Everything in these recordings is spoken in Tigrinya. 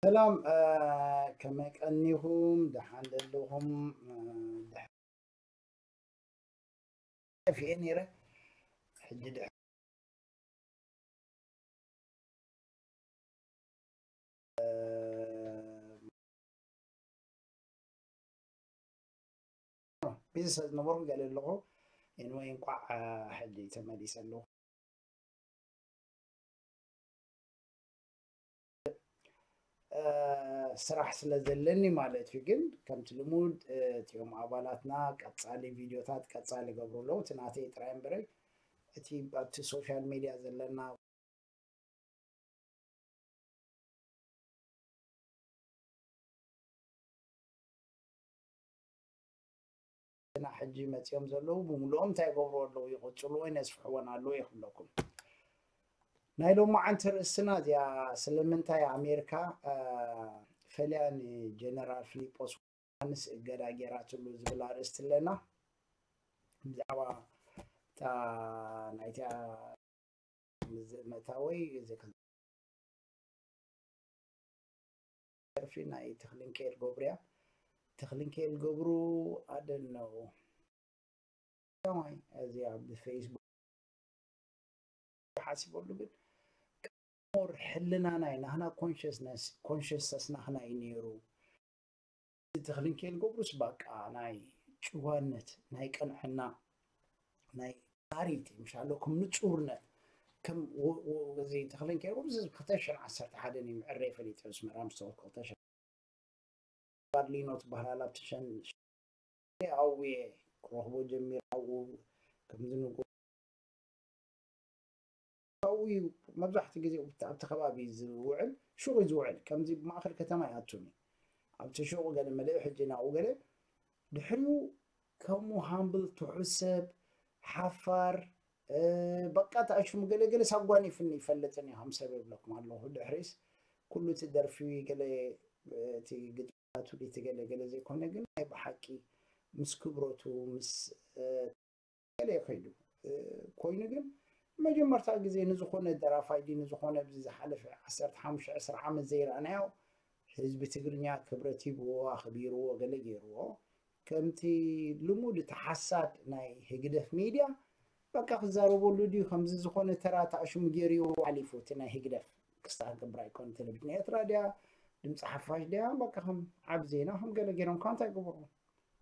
ሰላም፣ ከመይ ቀኒኹም? ደሓን ዘለኹም? ጠፊኤ ነይረ። ሕጂ ድሕ- ቢዚ ስለ ዝነበርኩ ገለ ኣለኹ። ኤንወይ፣ እንቋዕ ሕጂ ተመሊሰ ኣለኹ። ስራሕ ስለ ዘለኒ ማለት እዩ። ግን ከምቲ ልሙድ እቲኦም ኣባላትና ቀጻሊ ቪድዮታት ቀጻሊ ይገብሩ ኣለዉ። እቲ ናተይ ጥራይ እምበረይ እቲ ኣብቲ ሶሻል ሚድያ ዘለና ና ሕጂ መጺኦም ዘለዉ ብምልኦም እንታይ ይገብሩ ኣለዉ? ይቕጽሉ ወይ ነስፍሕወን ኣለዉ ይኽብለኩም። ናይ ሎማዓንቲ ርእስና እዚኣ ስለምንታይ ኣሜሪካ ፈልያ ንጀነራል ፊሊጶስ ዮሃንስ እገዳ ጌራትሉ ዝብል ኣርእስቲ ኣለና። ብዛዕባ እታ ናይታ መታወይ ደርፊ ናይ ተኽሊንኬል ገብሩ እያ። ተኽሊንኬል ገብሩ ኣደነው እዚ ኣብ ፌስቡክ ሓሲበሉ ግን ሞር ሕልና ናይ ናህና ኮንሽስነስ ኮንሽስነስ ናህና እዩ ነይሩ። ተኽሊንኬል ገብሩስ ባቃ ናይ ጭዋነት ናይ ቅንዕና ናይ ታሪቲ ምሻሎ ከም ንጹርነት ከም እዚ ተኽሊንኬል ገብሩስ ክልተ ሽሕን ዓሰርተ ሓደን እዩ ምዕረይ ፈሊጠ ኣስመራ ምስ ተወልኩ ክልተ ሽሕን ባርሊኖ ትበሃል ኣብቲ ሸን ኣውየ ክረኽቦ ጀሚር ኣብኡ ከምዚ ንጎ ኣብኡ እዩ መብዛሕትኡ ግዜ ኣብቲ ከባቢ ዝውዕል ሹቕ እዩ ዝውዕል ከምዚ ብማእኸል ከተማ ይኣቱን እዩ ኣብቲ ሹቕ ገለ መለኢ ሕጂ ናብኡ ገለ ድሕሪኡ ከምኡ ሃምብል ትሑት ሰብ ሓፋር በቃ ተኣሽሙ ገለገለ ሳጓኒፍኒ ይፈልጥን እዩ ከም ሰብ ይብለኩም ኣለኹ ድሕሪስ ኩሉ እቲ ደርፊ ገለ እቲ ግጥማቱ እቲ ገለገለ ዘይኮነ ግን ናይ ብሓቂ ምስ ክብረቱ ምስ ገለ ከይዱ ኮይኑ ግን መጀመርታ ግዜ ንዝኾነ ደራፋይ ድዩ ንዝኾነ ኣብዚ ዝሓለፈ ዓሰርተ ሓሙሽተ ዕስራ ዓመት ዘይረኣናዮ ህዝቢ ትግርኛ ክብረት ሂብዎ ኣኽቢርዎ ገለ ገይርዎ ከምቲ ልሙድ እቲ ሓሳድ ናይ ህግደፍ ሚድያ በቃ ክዛረበሉ ድዩ ከምዚ ዝኾነ ተራ ተኣሽሙ ገይርዎ ሓሊፉ እቲ ናይ ህግደፍ ክስታ ክገብር ኣይኮነ ቴሌቪዥን ኤርትራ ድያ ድምፂ ሓፋሽ ድያ በቃ ከም ዓብ ዜና ከም ገለ ገይሮም ካብ እንታይ ገበሩ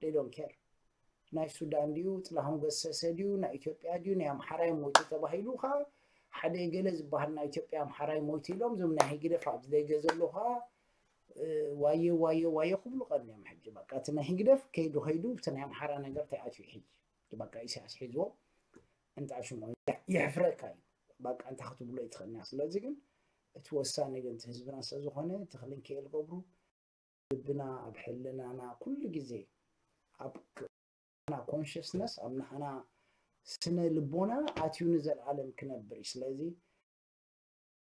they don't care ናይ ሱዳን ድዩ ጥላሁን ገሰሰ ድዩ ናይ ኢትዮጵያ ድዩ ናይ ኣምሓራይ ሞይቱ ተባሂሉ ከዓ ሓደ ገለ ዝበሃል ናይ ኢትዮጵያ ኣምሓራይ ሞይቱ ኢሎም እዞም ናይ ህግደፍ ኣብዚ ደገ ዘለዉ ከዓ ዋየ ዋየ ዋየ ክብሉ ቀንዮም ሕጂ በቃ እቲ ናይ ህግደፍ ከይዱ ከይዱ እቲ ናይ ኣምሓራ ነገር ተኣትዩ ሕጂ በቃ ኢሳያስ ሒዝዎ እንታ ሽሙ የሕፍረካ እዩ ባቃ እንታይ ክትብሎ ይትኽእልና። ስለዚ ግን እቲ ወሳኒ ግን እቲ ህዝብና ስለ ዝኾነ ተኽልን ከየል ገብሩ ልብና ኣብ ሕልናና ኩሉ ግዜ ኣብ ና ኮንሽስነስ ኣብ ናህና ስነ ልቦና ኣትዩ ንዘለኣለም ክነብር እዩ። ስለዚ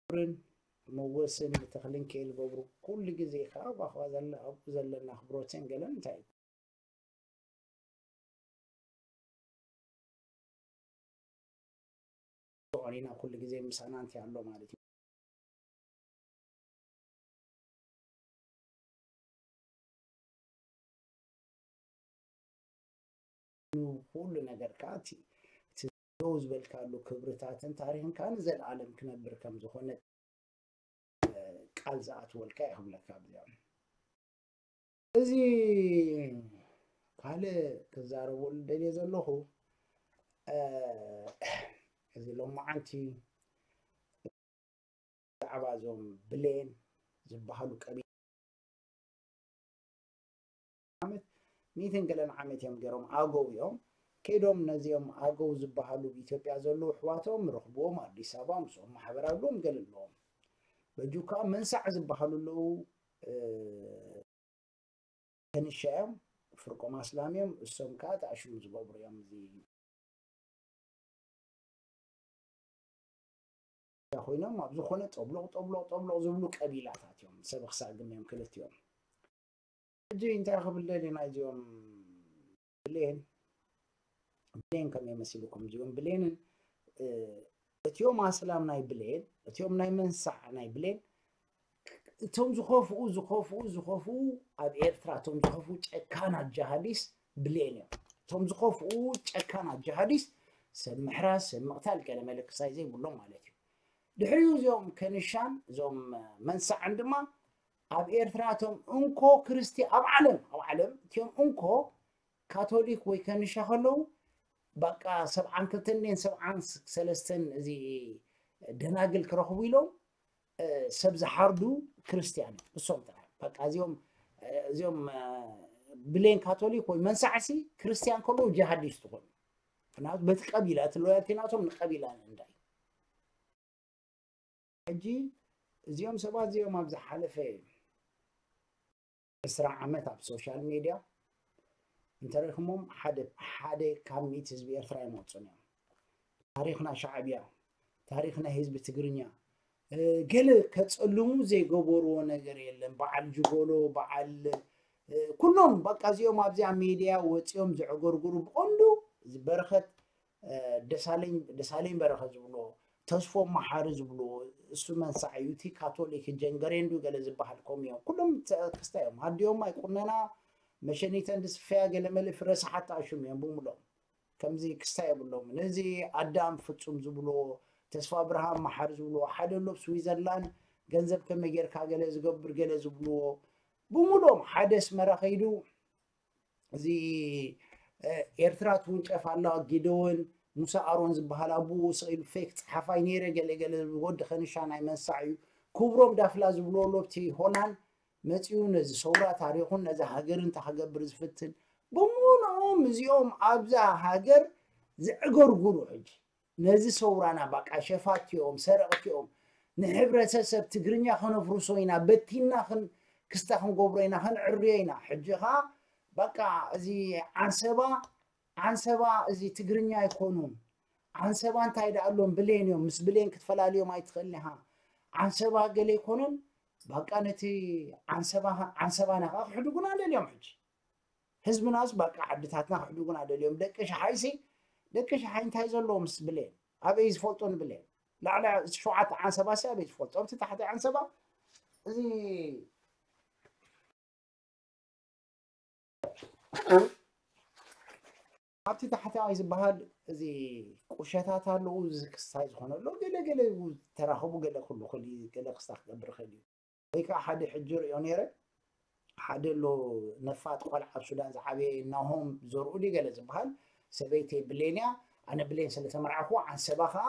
ክብርን መወስን ንተኽልን ከየል ገብሩ ኩሉ ግዜ ከዓ ኣብኡ ዘለና ኣኽብሮትን ገለን እንታይ እዩ ኦሪና ኩሉ ግዜ ምሳና እንታይ ኣሎ ማለት እዩ። ኩሉ ነገር ከዓ እቲ ደው ዝበልካሉ ክብርታትን ታሪኽን ከዓ ንዘለኣለም ክነብር ከም ዝኾነ ቃል ዝኣትወልካ ይኽብለካ ኣብዚኦም እዚ ካልእ ክዛረበሉ ደልየ ዘለኹ እዚ ሎማዓንቲ ብዛዕባ እዞም ብሌን ዝበሃሉ ቀቢላ ዓመት ሚእትን ገለን ዓመት እዮም ገይሮም ኣገው እዮም ከይዶም ነዚኦም ኣገው ዝበሃሉ ኢትዮጵያ ዘለዉ ኣሕዋቶም ረኽብዎም ኣዲስ ኣበባ ምስኦም ማሕበር ኣለዎም ገለ ኣለዎም በጁ ከዓ መንሳዕ ዝበሃሉ ኣለዉ ከንሻ እዮም ፍርቆም ኣስላም እዮም እሶም ከዓ ተኣሽሙ ዝገብሩ እዮም እዚ ኮይኖም ኣብ ዝኾነ ጠብሎቕ ጠብሎቕ ጠብሎቕ ዝብሉ ቀቢላታት እዮም ሰብ ክሳግም እዮም ክልቲኦም ሕጂ እንታይ ክብል ደሊ ናይዚኦም ብሌን ብሌን ከመይ መሲልኩም እዚኦም ብሌንን እቲኦም ኣስላም ናይ ብሌን እቲኦም ናይ መንሳዕ ናይ ብሌን እቶም ዝኸፍኡ ዝኸፍኡ ዝኸፍኡ ኣብ ኤርትራ እቶም ዝኸፍኡ ጨካናት ጃሃዲስ ብሌን እዮም እቶም ዝኸፍኡ ጨካናት ጃሃዲስ ሰብ ምሕራስ ሰብ ምቕታል ገለ መለክሳይ ዘይብሎም ማለት እዩ ድሕሪኡ እዚኦም ከንሻን እዞም መንሳዕን ድማ ኣብ ኤርትራ እቶም እንኮ ክርስቲ ኣብ ዓለም ኣብ ዓለም እቲኦም እንኮ ካቶሊክ ወይ ከንሻ ከለዉ በቃ ሰብዓን ክልተን ሰብዓን ሰለስተን እዚ ደናግል ክረኽቡ ኢሎም ሰብ ዝሓርዱ ክርስትያን እሶም ጥራሕ በቃ እዚኦም እዚኦም ብሌን ካቶሊክ ወይ መንሳዕሲ ክርስትያን ከለዉ ጂሃዲስት ዝኾኑ ምክንያቱ በቲ ቀቢላ እቲ ሎያልቲ ናቶም ንቀቢላ እንዳ ሕጂ እዚኦም ሰባት እዚኦም ኣብ ዝሓለፈ ዕስራ ዓመት ኣብ ሶሻል ሜድያ እንተረኺሞም ሓደ ሓደ ካብ ሚእቲ ህዝቢ ኤርትራ ይመፁን እዮም ታሪኽና ሻዕብያ ታሪኽና ህዝቢ ትግርኛ ገለ ከፀልሙ ዘይገበርዎ ነገር የለን በዓል ጅጎሎ በዓል ኩሎም በቃ እዚኦም ኣብዚኣ ሜድያ ወፂኦም ዘዕገርግሩ ብቐንዱ በረኸት ደሳለኝ በረኸ ዝብሎ ተስፎ መሓሪ ዝብልዎ እሱ መንሳዕ እዩ እቲ ካቶሊክ ጀንገሬንዱ ገለ ዝበሃል ከምኡ እዮም ኩሎም ክስታ እዮም ኣዲኦም ኣይቁነና መሸኒተን ዝስፈያ ገለ መለ ፍረ ሰሓት ተኣሽሙ እዮም ብምሎም ከምዚ ክስታ የብሎም ነዚ ኣዳም ፍጹም ዝብልዎ ተስፋ ብርሃን መሓሪ ዝብልዎ ሓደ ኣሎ ኣብ ስዊዘርላንድ ገንዘብ ከመይ ጌርካ ገለ ዝገብር ገለ ዝብልዎ ብምሎም ሓደ ኣስመራ ከይዱ እዚ ኤርትራ ትውንጨፍ ኣላ ጊደዎን ሙሳ ኣሮን ዝበሃል ኣቡኡ ስቕ ኢሉ ፌክ ጸሓፋይ ነይረ ገለ ገለ ወዲ ከንሻ ናይ መንሳዕ እዩ ክብሮም ዳፍላ ዝብልዎ ሎብቲ ሆላንድ መጺኡ ነዚ ሰውራ ታሪኹን ነዚ ሃገርን እንተ ክገብር ዝፍትን ብምሉኦም እዚኦም ኣብዛ ሃገር ዝዕገርጉሩ ሕጂ ነዚ ሰውራና ባቃ ሸፋቲኦም ሰረቕቲኦም ንሕብረተሰብ ትግርኛ ከነፍርሶ ኢና በቲና ክስታ ክንገብሮ ኢና ከነዕርዮ ኢና ሕጂ ኸዓ በቃ እዚ ዓንሰባ ዓንሰባ እዚ ትግርኛ ኣይኮኑን ዓንሰባ እንታይ ደኣ ኣሎም ብሌን እዮም ምስ ብሌን ክትፈላልዮም ኣይትኽእልን ኢኻ ዓንሰባ ገለ ኣይኮኑን በቃ ነቲ ዓንሰባ ዓንሰባና ከዓ ክሕድጉና ደልዮም ሕጂ ህዝብናስ በቃ ዓድታትና ክሕድጉና ደልዮም ደቂ ሸሓይሲ ደቂ ሸሓይ እንታይ ዘለዎ ምስ ብሌን ኣበይ ዝፈልጦ ንብሌን ላዕሊ ሸውዓተ ዓንሰባ ሲ ኣበይ ዝፈልጦ ኣብቲ ታሕቲ ዓንሰባ እዚ ኣብቲ ታሕተዋይ ዝበሃል እዚ ቁሸታት ኣለዉ እዚ ክስታይ ዝኾነ ኣሎ ገለ ገለ ተራኸቡ ገለ ክሉ ክል ገለ ክስታ ክገብር ይኽእል እዩ ወይ ከዓ ሓደ ሕጂ ርእዮ ነይረ ሓደ ኣሎ ነፋጥ ቆልዓ ኣብ ሱዳን ዝዓበየ ናሆም ዘርኡ ድዩ ገለ ዝበሃል ሰበይተይ ብሌን እያ ኣነ ብሌን ስለተመርዓኹ ዓንሰባ ከዓ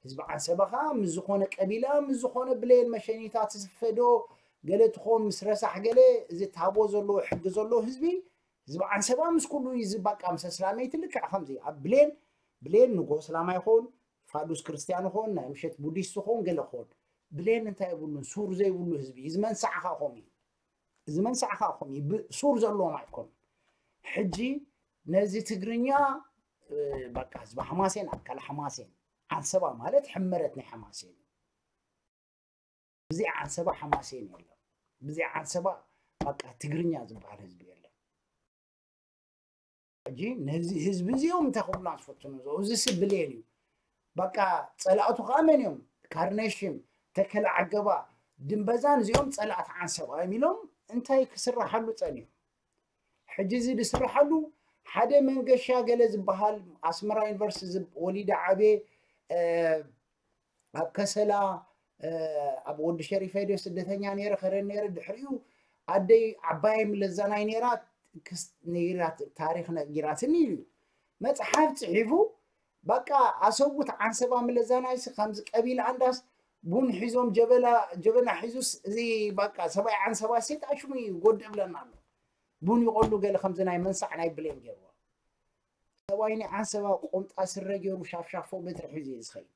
ህዝቢ ዓንሰባ ከዓ ምስ ዝኾነ ቀቢላ ምስ ዝኾነ ብሌን መሸኒታ ትስፈዶ ገለ ትኾን ምስ ረሳሕ ገለ እዚ ታቦ ዘለዎ ሕጊ ዘለዎ ህዝቢ ህዝቢ ዓንሰባ ምስ ኩሉ እዩ ዝባቃ ምስ ኣስላመይቲ ልክዕ ከምዚ ኣብ ብሌን ብሌን ንጎ ስላማ ይኸውን ፋዱስ ክርስቲያን ኾን ናይ ምሸት ቡዲስት ኾን ገለ ኾን ብሌን እንታይ የብሉን። ሱር ዘይብሉ ህዝቢ እዩ። እዚ መንሳዕ ኸዓ ኾም እዩ። እዚ መንሳዕ ኸዓ ኾም እዩ። ብ- ሱር ዘለዎም ኣይኮኑን። ሕጂ ነዚ ትግርኛ እ፣ በቃ ህዝቢ ሓማሴን ኣካል ሓማሴን፣ ዓንሰባ ማለት ሕመረት ናይ ሓማሴን እዩ። ብዘይ ዓንሰባ ሓማሴን የለን። ብዘይ ዓንሰባ በቃ ትግርኛ ዝበሃል ህዝቢ የለን። ሕጂ ነዚ ህዝቢ እዚኦም እንታይ ክብሉና ዝፈትኑ ዘው እዚ ስብሌን እዩ። በቃ ጸላእቱ ከዓ መን እዮም? ካርነሽም፣ ተከለ ዓገባ፣ ድንበዛን እዚኦም ጸላእቲ ዓንሰባ እዮም ኢሎም እንታይ ክስራሓሉ ጸኒሑ? ሕጂ እዚ ዝስርሓሉ ሓደ መንገሻ ገለ ዝበሃል ኣስመራ ዩኒቨርሲቲ ዝብ- ወሊደ ዓብየ እ፣ ኣብ ከሰላ እ፣ ኣብ ወዲ ሸሪፈ ድዮ ስደተኛ ነይረ ከረን ነይረ ድሕሪኡ ኣደይ ዓባየይ ምለዛናይ ነይራ ክስ- ነይራት ታሪክ ነጊራትኒ ኢሉ እዩ መፅሓፍ ፅሒፉ በቃ ኣሰቡት ዓንሰባ ምለዛናይሲ ከምዚ ቀቢል ኣንዳስ ቡን ሒዞም ጀበላ ጀበና ሒዙስ እዚ በቃ ሰብኣይ ዓንሰባ ሴት ኣሽሙ ይጎድእ ብለና ኣሎ ቡን ይቆሉ ገለ ከምዚ ናይ መንሳዕ ናይ ብሌን ገይርዎ ሰብኣይ ናይ ዓንሰባ ቆምጣ ስረ ገይሩ ሻፍሻፎ በትሪ ሒዙ እዩ ዝኸይድ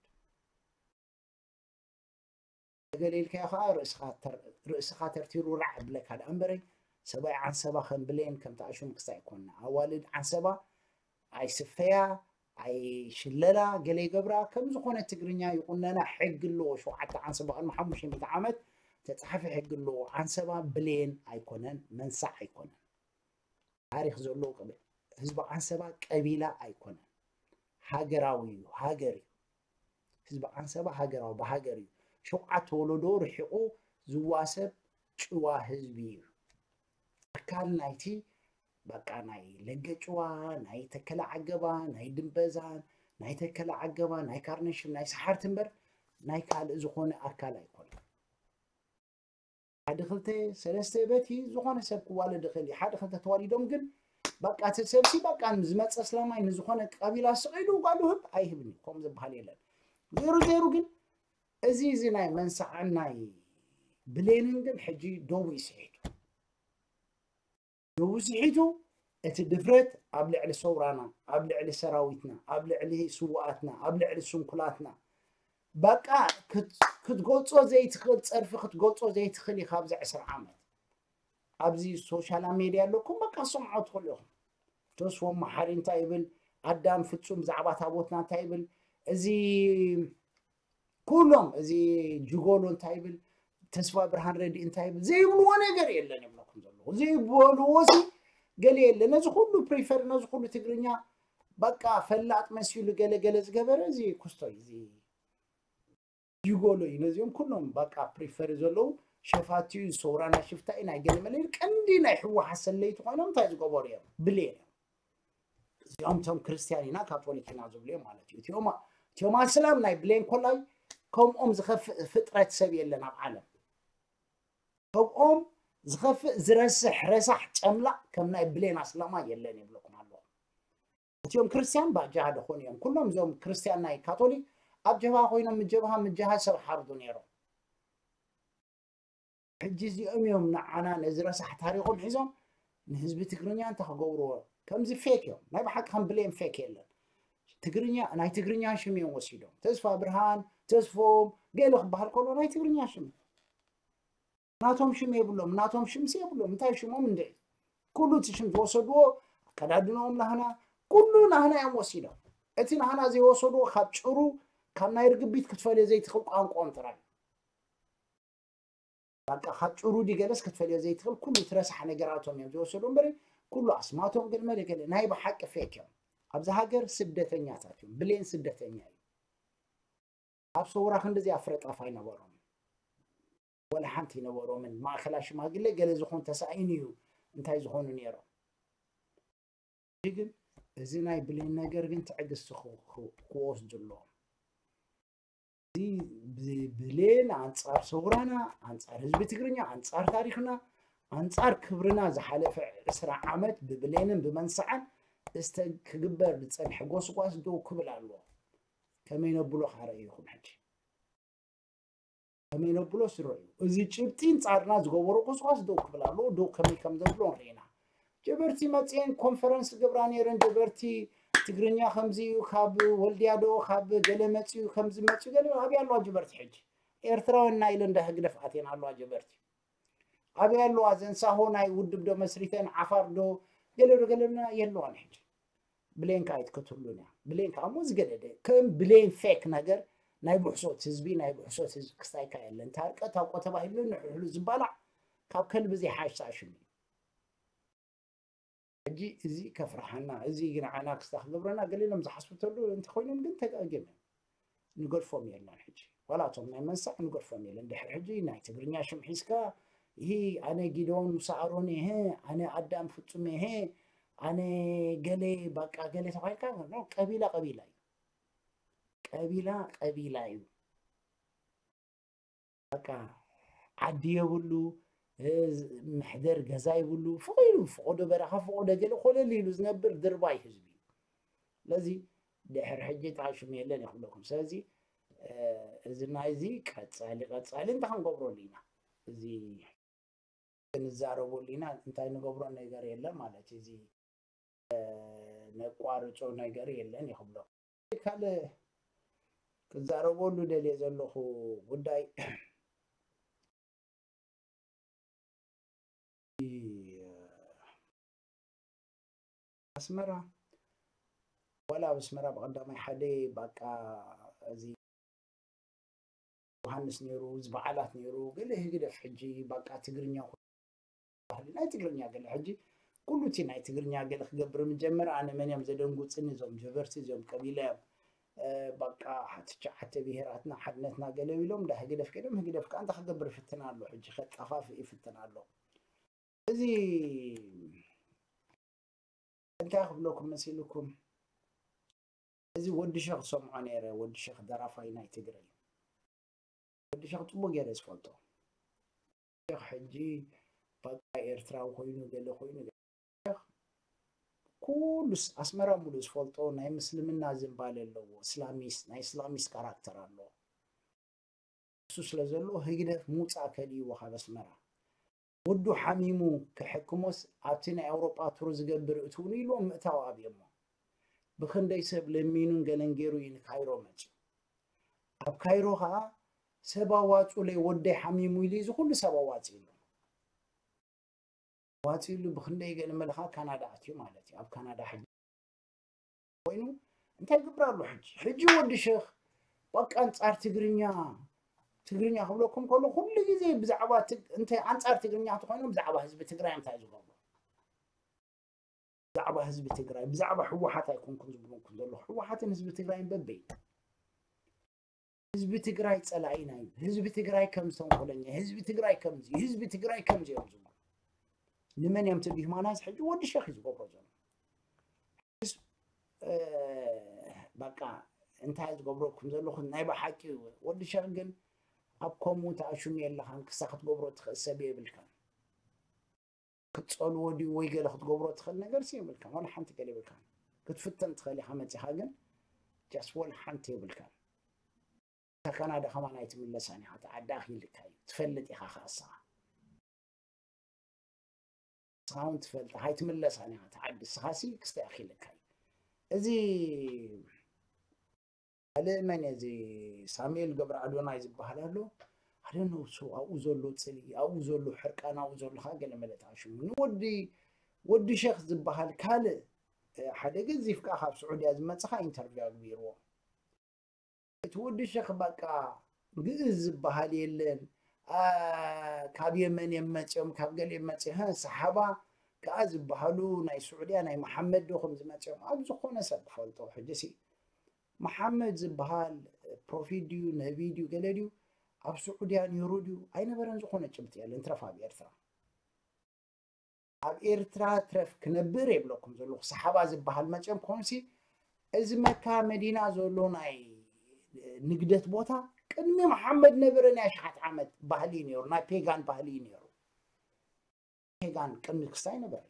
ገለ ኢልካዮ ከዓ ርእስኻ ተር- ርእስኻ ተርቲሩ ራዕ ብለካ ደኣ እምበረይ ሰብኣይ ዓንሰባ ከም ብሌን ከም ተኣሽሙ ክስታይ ኣይኮንና ኣዋልድ ዓንሰባ ኣይስፈያ ኣይሽለላ ገለ ይገብራ ከም ዝኾነ ትግርኛ ይቁነና ሕጊ ኣለዎ ሸውዓተ ዓንሰባ ቅድሚ ሓሙሽተ ሚእቲ ዓመት ተፃሓፈ ሕጊ ኣለዎ ዓንሰባ ብሌን ኣይኮነን መንሳዕ ኣይኮነን ታሪክ ዘለዎ ቀቢላ ህዝቢ ዓንሰባ ቀቢላ ኣይኮነን ሃገራዊ እዩ ሃገር እዩ ህዝቢ ዓንሰባ ሃገራዊ ብሃገር እዩ ሸውዓተ ወለዶ ርሒቁ ዝዋሰብ ጭዋ ህዝቢ እዩ ኣካል ናይቲ በቃ ናይ ለገ ጭዋ ናይ ተከለ ዓገባ ናይ ድንበዛን ናይ ተከለ ዓገባ ናይ ካርነሽም ናይ ሰሓርቲ እምበር ናይ ካልእ ዝኾነ ኣካል ኣይኮነን ሓደ ክልተ ሰለስተ በቲ ዝኾነ ሰብ ክዋለድ ይኽእል እዩ ሓደ ክልተ ተዋሊዶም ግን በቃ እቲ ሰብሲ በቃ ዝመፀ ስላማይ ንዝኾነ ቀቢላ ስቕ ኢሉ ጓሉ ህብ ኣይህብን እዩ ከምኡ ዝበሃል የለን ዜሩ ዜሩ ግን እዚ እዚ ናይ መንሳዕን ናይ ብሌንን ግን ሕጂ ደቡ ይስሒቱ ደቡ ስሒቱ እቲ ድፍረት ኣብ ልዕሊ ሰውራና ኣብ ልዕሊ ሰራዊትና ኣብ ልዕሊ ስውኣትና ኣብ ልዕሊ ስንኩላትና በቃ ክትገልጾ ዘይትኽእል ጸርፊ ክትገልጾ ዘይትኽእል ኢኻ ኣብዚ ዕስራ ዓመት ኣብዚ ሶሻል ሜድያ ኣለኩም በቃ ሰምዖ ትኽእሉ ኢኹም ተስፎም መሓሪ እንታይ ይብል ኣዳም ፍጹም ብዛዕባ ታቦትና እንታይ ይብል እዚ ኩሎም እዚ ጅጎሎ እንታይ ይብል ተስፋ ብርሃን ረዲ እንታይ ይብል ዘይብልዎ ነገር የለን ይብለኩም ዘለኹ ዘይበልዎ ሲ ገለ የለ ነዚ ኩሉ ፕሪፈር ነዚ ኩሉ ትግርኛ በቃ ፈላጥ መሲሉ ገለ ገለ ዝገበረ እዚ ኩስቶ እዩ እዚ ይጎሎ እዩ ነዚኦም ኩሎም በቃ ፕሪፈር ዘለዉ ሸፋቲ እዩ ዝሰውራና ሽፍታ እዩ ናይ ገለ መለ ቀንዲ ናይ ህወሓት ሰለይቲ ኮይኖም እንታይ ዝገበሩ እዮም ብሌን እዮም እዚኦም ቶም ክርስቲያን ኢና ካቶሊክ ኢና ዝብሉ እዮም ማለት እዩ እቲኦም እቲኦም ኣስላም ናይ ብሌን ኮላይ ከምኦም ዝኸፍእ ፍጥረት ሰብ የለን ኣብ ዓለም ከምኦም ዝኸፍእ ዝረስሕ ረሳሕ ጨምላቕ ከም ናይ ብሌን ኣስላማ የለን ይብለኩም ኣለኹ እቲኦም ክርስቲያን ባጃሃ ደኾኑ እዮም ኩሎም እዞም ክርስቲያን ናይ ካቶሊክ ኣብ ጀብሃ ኮይኖም ምጀብሃ ምጀሃ ሰብ ሓርዱ ነይሮም ሕጂ እዚኦም እዮም ንዓና ነዚ ረሳሕ ታሪኾም ሒዞም ንህዝቢ ትግርኛ እንታይ ክገብርዎ ከምዚ ፌክ እዮም ናይ ብሓቂ ከም ብሌም ፌክ የለን ትግርኛ ናይ ትግርኛ ሽም እዮም ወሲዶም ተስፋ ብርሃን ተስፎም ገለ ክበሃል ከሎ ናይ ትግርኛ ሽም ናቶም ሽም የብሎም ናቶም ሽምሲ የብሎም እንታይ ሽሞም እንድዒ ኩሉ እቲ ሽም ዝወሰድዎ ኣከዳድንኦም ናህና ኩሉ ናህና እዮም ወሲዶም እቲ ናህና ዘይወሰድዎ ካብ ጭሩ ካብ ናይ ርግቢት ክትፈልዮ ዘይትኽእል ቋንቋኦም ጥራይ በቃ ካብ ጭሩ ዲ ገለስ ክትፈልዮ ዘይትኽእል ኩሉ ትረሳሕ ነገራቶም እዮም ዝወሰዱ እምበሪ ኩሉ ኣስማቶም ግን መለ ገለ ናይ ብሓቂ ፌክ እዮም ኣብዚ ሃገር ስደተኛታት እዮም ብሌን ስደተኛ እዩ ኣብ ሰውራ ክንድዚ ኣፍረጣፍ ኣይነበሮም ወላ ሓንቲ ይነበሮምን ማእከላ ሽማግለ ገለ ዝኾን ተሳኢኑ እዩ እንታይ ዝኾኑ ነይሮም ግን እዚ ናይ ብሌን ነገር ግን ትዕግስቲ ክወስዱ ኣለዎም እዚ ብሌን ኣንፃር ሰውራና ኣንፃር ህዝቢ ትግርኛ ኣንፃር ታሪክና ኣንፃር ክብርና ዝሓለፈ ዕስራ ዓመት ብብሌንን ብመንስዓን ክግበር ዝፀንሐ ጎስጓስ ደው ክብል ኣለዎ ከመይ ነብሎ ካረእዩኹም ሕጂ ከመይ ነብሎ ስረዩ እዚ ጭብጢ ንፃርና ዝገበሮ ጎስጓስ ደው ክብል ኣለዎ ደው ከመይ ከም ዘብሎ ንርኢና ጀበርቲ መፅኤን ኮንፈረንስ ገብራ ነይረን ጀበርቲ ትግርኛ ከምዚ እዩ፣ ካብ ወልድያ ዶ ካብ ገለ መፅዩ፣ ከምዚ መፅዩ ገለ። ኣበይ ኣለዋ ጀበርቲ ሕጂ? ኤርትራውያን ኢና ኢለን እንዳ ህግደፍ ኣትየን ኣለዋ ጀበርቲ። ኣበይ ኣለዋ? ዘን ሳሆ ናይ ውድብ ዶ መስሪተን፣ ዓፋር ዶ ገለ ዶ ገለና የለዋን ሕጂ። ብሌን ከኣ ኣይትከትሉን እያ። ብሌን ከኣ እሞ ዝገደደ ከም ብሌን ፌክ ነገር ናይ ብሕሶት ህዝቢ፣ ናይ ብሕሶት ህዝቢ ክስታይ ከኣ የለን። ታርቀት ኣውቆ ተባሂሉ ንሕሕሉ ዝባላዕ ካብ ከልቢ ዘይሓሽ ኣሽሙ እዩ። ሕጂ እዚ ከፍርሓና፣ እዚ ግን ዓና ክስታ ክገብረና ገለ ኢሎም ዝሓስቡ ተሉ እንተኾይኖም ግን ተጋግዮም እዮም። ንገድፎም የለን ሕጂ። ዋላ እቶም ናይ መንሳዕ ንገድፎም የለን። ድሕሪ ሕጂ ናይ ትግርኛ ሽም ሒዝካ፣ ይሂ ኣነ ጊዶን ሙሳ ኣሮን እየ፣ ኣነ ኣዳም ፍጹም እየ፣ ኣነ ገለ በቃ ገለ ተባሂልካ፣ ኖ፣ ቀቢላ ቀቢላ እዩ። ቀቢላ ቀቢላ እዩ። በቃ ዓዲ የብሉ፣ እ፣ መሕደር ገዛ የብሉ፣ ፍቕ ኢሉ፣ ፍቖዶ በረኻ፣ ፍቖዶ ገለ ኮለል ኢሉ ዝነብር ድርባይ ህዝቢ እዩ። ስለዚ ድሕሪ ሕጂ ጣሽም የለን ይኽብለኩም። ስለዚ፣ እ፣ እዚ ናይዚ ቀጻሊ፣ ቀጻሊ እንታይ ክንገብረሉ ኢና? እዚ ክንዛረበሉ ኢና፣ እንታይ ንገብሮ ነገር የለን ማለት እዩ። እዚ፣ እ፣ ነቋርጾ ነገር የለን ይኽብሎ። ካልእ ክዛረበሉ ደልየ ዘለኹ ጉዳይ፣ ኣስመራ፣ ዋላ ኣብ ኣስመራ ብቐዳማይ ሓደ ባቃ እዚ ዮሃንስ ነይሩ፣ እዚ በዓላት ነይሩ፣ ገለ ህግደፍ ሕጂ ባቃ ትግርኛ ባህሊ ናይ ትግርኛ ገለ ሕጂ ኩሉ እቲ ናይ ትግርኛ ገለ ክገብር ምጀመር፣ ኣነ መን እዮም ዘደንጉጽኒ? እዞም ጀበርቲ፣ እዚኦም ቀቢላ እዮም። እ፣ በቃ፣ ትሽዓተ ብሄራትና፣ ሓድነትና ገለ ኢሎም፣ እንዳ ህግደፍ ከይዶም፣ ህግደፍ ከኣ እንታይ ክገብር ይፍትን ኣሎ? ሕጂ ከጠፋፍእ ይፍትን ኣሎ። እዚ እንታይ ክብለኩም መሲልኩም? እዚ ወዲ ሸኽ ዝሰምዖ ነይረ፣ ወዲ ሸኽ ደራፋይ ናይ ትግርኛ። ወዲ ሸኽ ጽቡቅ ገይረ ዝፈልጦ። ሸኽ ሕጂ በቃ ኤርትራዊ ኮይኑ፣ ገለ ኮይኑ፣ ሸኽ ኩሉስ ኣስመራ ሙሉእ ዝፈልጦ ናይ ምስልምና ዝንባለ ኣለዎ፣ እስላሚስ፣ ናይ እስላሚስ ካራክተር ኣለዎ። እሱ ስለ ዘሎ ህግደፍ ምውጻእ ከልይዎ ካብ ኣስመራ። ወዱ ሓሚሙ ክሕክሞስ ኣብቲ ናይ ኣውሮጳ ቱር ዝገብር እትውሉ ኢልዎም ምእታው ኣብዮሞ። ብኽንደይ ሰብ ለሚኑን ገለን ገይሩ እዩ ንካይሮ መጽዩ። ኣብ ካይሮ ኸኣ ሰብ ኣዋጹለይ ወደይ ሓሚሙ ኢሉ እዚ ኩሉ ሰብ ኣዋጺእሉ። ኣዋጺእሉ ብኽንደይ ገለ መልኻ ካናዳ ኣትዩ ማለት እዩ። ኣብ ካናዳ ሕጂ ኮይኑ እንታይ ይገብር ኣሎ ሕጂ? ሕጂ ወዲ ሸኽ በቃ ኣንጻር ትግርኛ፣ ትግርኛ ክብለኩም ከሎ ኩሉ ግዜ ብዛዕባ ትግ-፣ እንተ ኣንጻር ትግርኛ እንተኾይኖም ብዛዕባ ህዝቢ ትግራይ እንታይ ዝገብሩ? ብዛዕባ ህዝቢ ትግራይ፣ ብዛዕባ ህወሓት ኣይኮንኩን ዝብለኩም ዘለኹ። ህወሓትን ህዝቢ ትግራይን በበይ? ህዝቢ ትግራይ ጸላኢና እዩ። ህዝቢ ትግራይ ከም ዝተንኮለኛ፣ ህዝቢ ትግራይ ከምዚ፣ ህዝቢ ትግራይ ከምዚ እዮም ዝብሉ። ንመን እዮም ትዲህማናስ? ሕጂ ወዲ ሸኽ እዩ ዝገብሮ ዘሎ። እ፣ በቃ እንታይ ዝገብረኩም ዘለኹ ናይ ብሓቂ ወዲ ሸኽ ግን ኣብ ከምኡ ተኣሽሙ የለኻን፣ ክሳ ክትገብሮ ትኽእል ሰብ የብልካን። ክትጸልዎ ድዩ ወይ ገለ ክትገብሮ ትኽእል ነገር ሲ የብልካን፣ ዋላ ሓንቲ ገለ የብልካን። ክትፍተን ትኽእል ኢኻ መጺኻ፣ ግን ጃስት ዋላ ሓንቲ የብልካን። እታ ካናዳ ከማን ኣይትምለሳን ኢኻ፣ እቲ ዓዲ ኣኺልካ እዩ። ትፈልጥ ኢኻ ኸኣ ንስኻ። ንስኻ እውን ትፈልጥ፣ ኣይትምለሳን ኢኻ፣ እቲ ዓዲ ንስኻ ሲ ክስታይ ኣኺልካ እዩ። እዚ ካልእ መን እዩ? እዚ ሳሙኤል ገብረ ኣዶናይ ዝበሃል ኣሎ። ኣደነውሱ ኣብኡ ዘሎ ጽልኢ፣ ኣብኡ ዘሎ ሕርቃን፣ ኣብኡ ዘሎ ኸኣ ገለ መለ ተኣሽሙ። ንወዲ፣ ወዲ ሸኽ ዝበሃል ካልእ፣ እ፣ ሓደ ገዚፍ ከኣ ካብ ስዑድያ ዝመጽእ ኸኣ ኢንተርቪው ኣግቢርዎ። እቲ ወዲ ሸኽ በቃ ግእዝ ዝበሃል የለን። ኣ፣ ካብ የመን እዮም መጺኦም፣ ካብ ገለ እዮም መጺኦም። ሀ፣ ሰሓባ ከኣ ዝበሃሉ ናይ ስዑድያ ናይ መሓመድ ዶ ከም ዝመጺኦም ኣብ ዝኾነ ሰብ ክፈልጦ። ሕጂ ሲ መሓመድ ዝበሃል ፕሮፊት ድዩ ነቢ ድዩ ገለ ድዩ ኣብ ስዑድያ ነይሩ ድዩ ኣይነበረን፣ ዝኾነ ጭብጢ የለን። ትረፍ ኣብ ኤርትራ። ኣብ ኤርትራ ትረፍ ክነብር የብለኩም ዘለኹ። ሰሓባ ዝበሃል መጺኦም ኮንሲ እዚ መካ መዲና ዘሎ ናይ ንግደት ቦታ ቅድሚ መሓመድ ነበረ። ናይ ኣሽሓት ዓመት ባህሊ እዩ ነይሩ፣ ናይ ፔጋን ባህሊ እዩ ነይሩ። ፔጋን ቅድሚ ክስታይ ነበረ።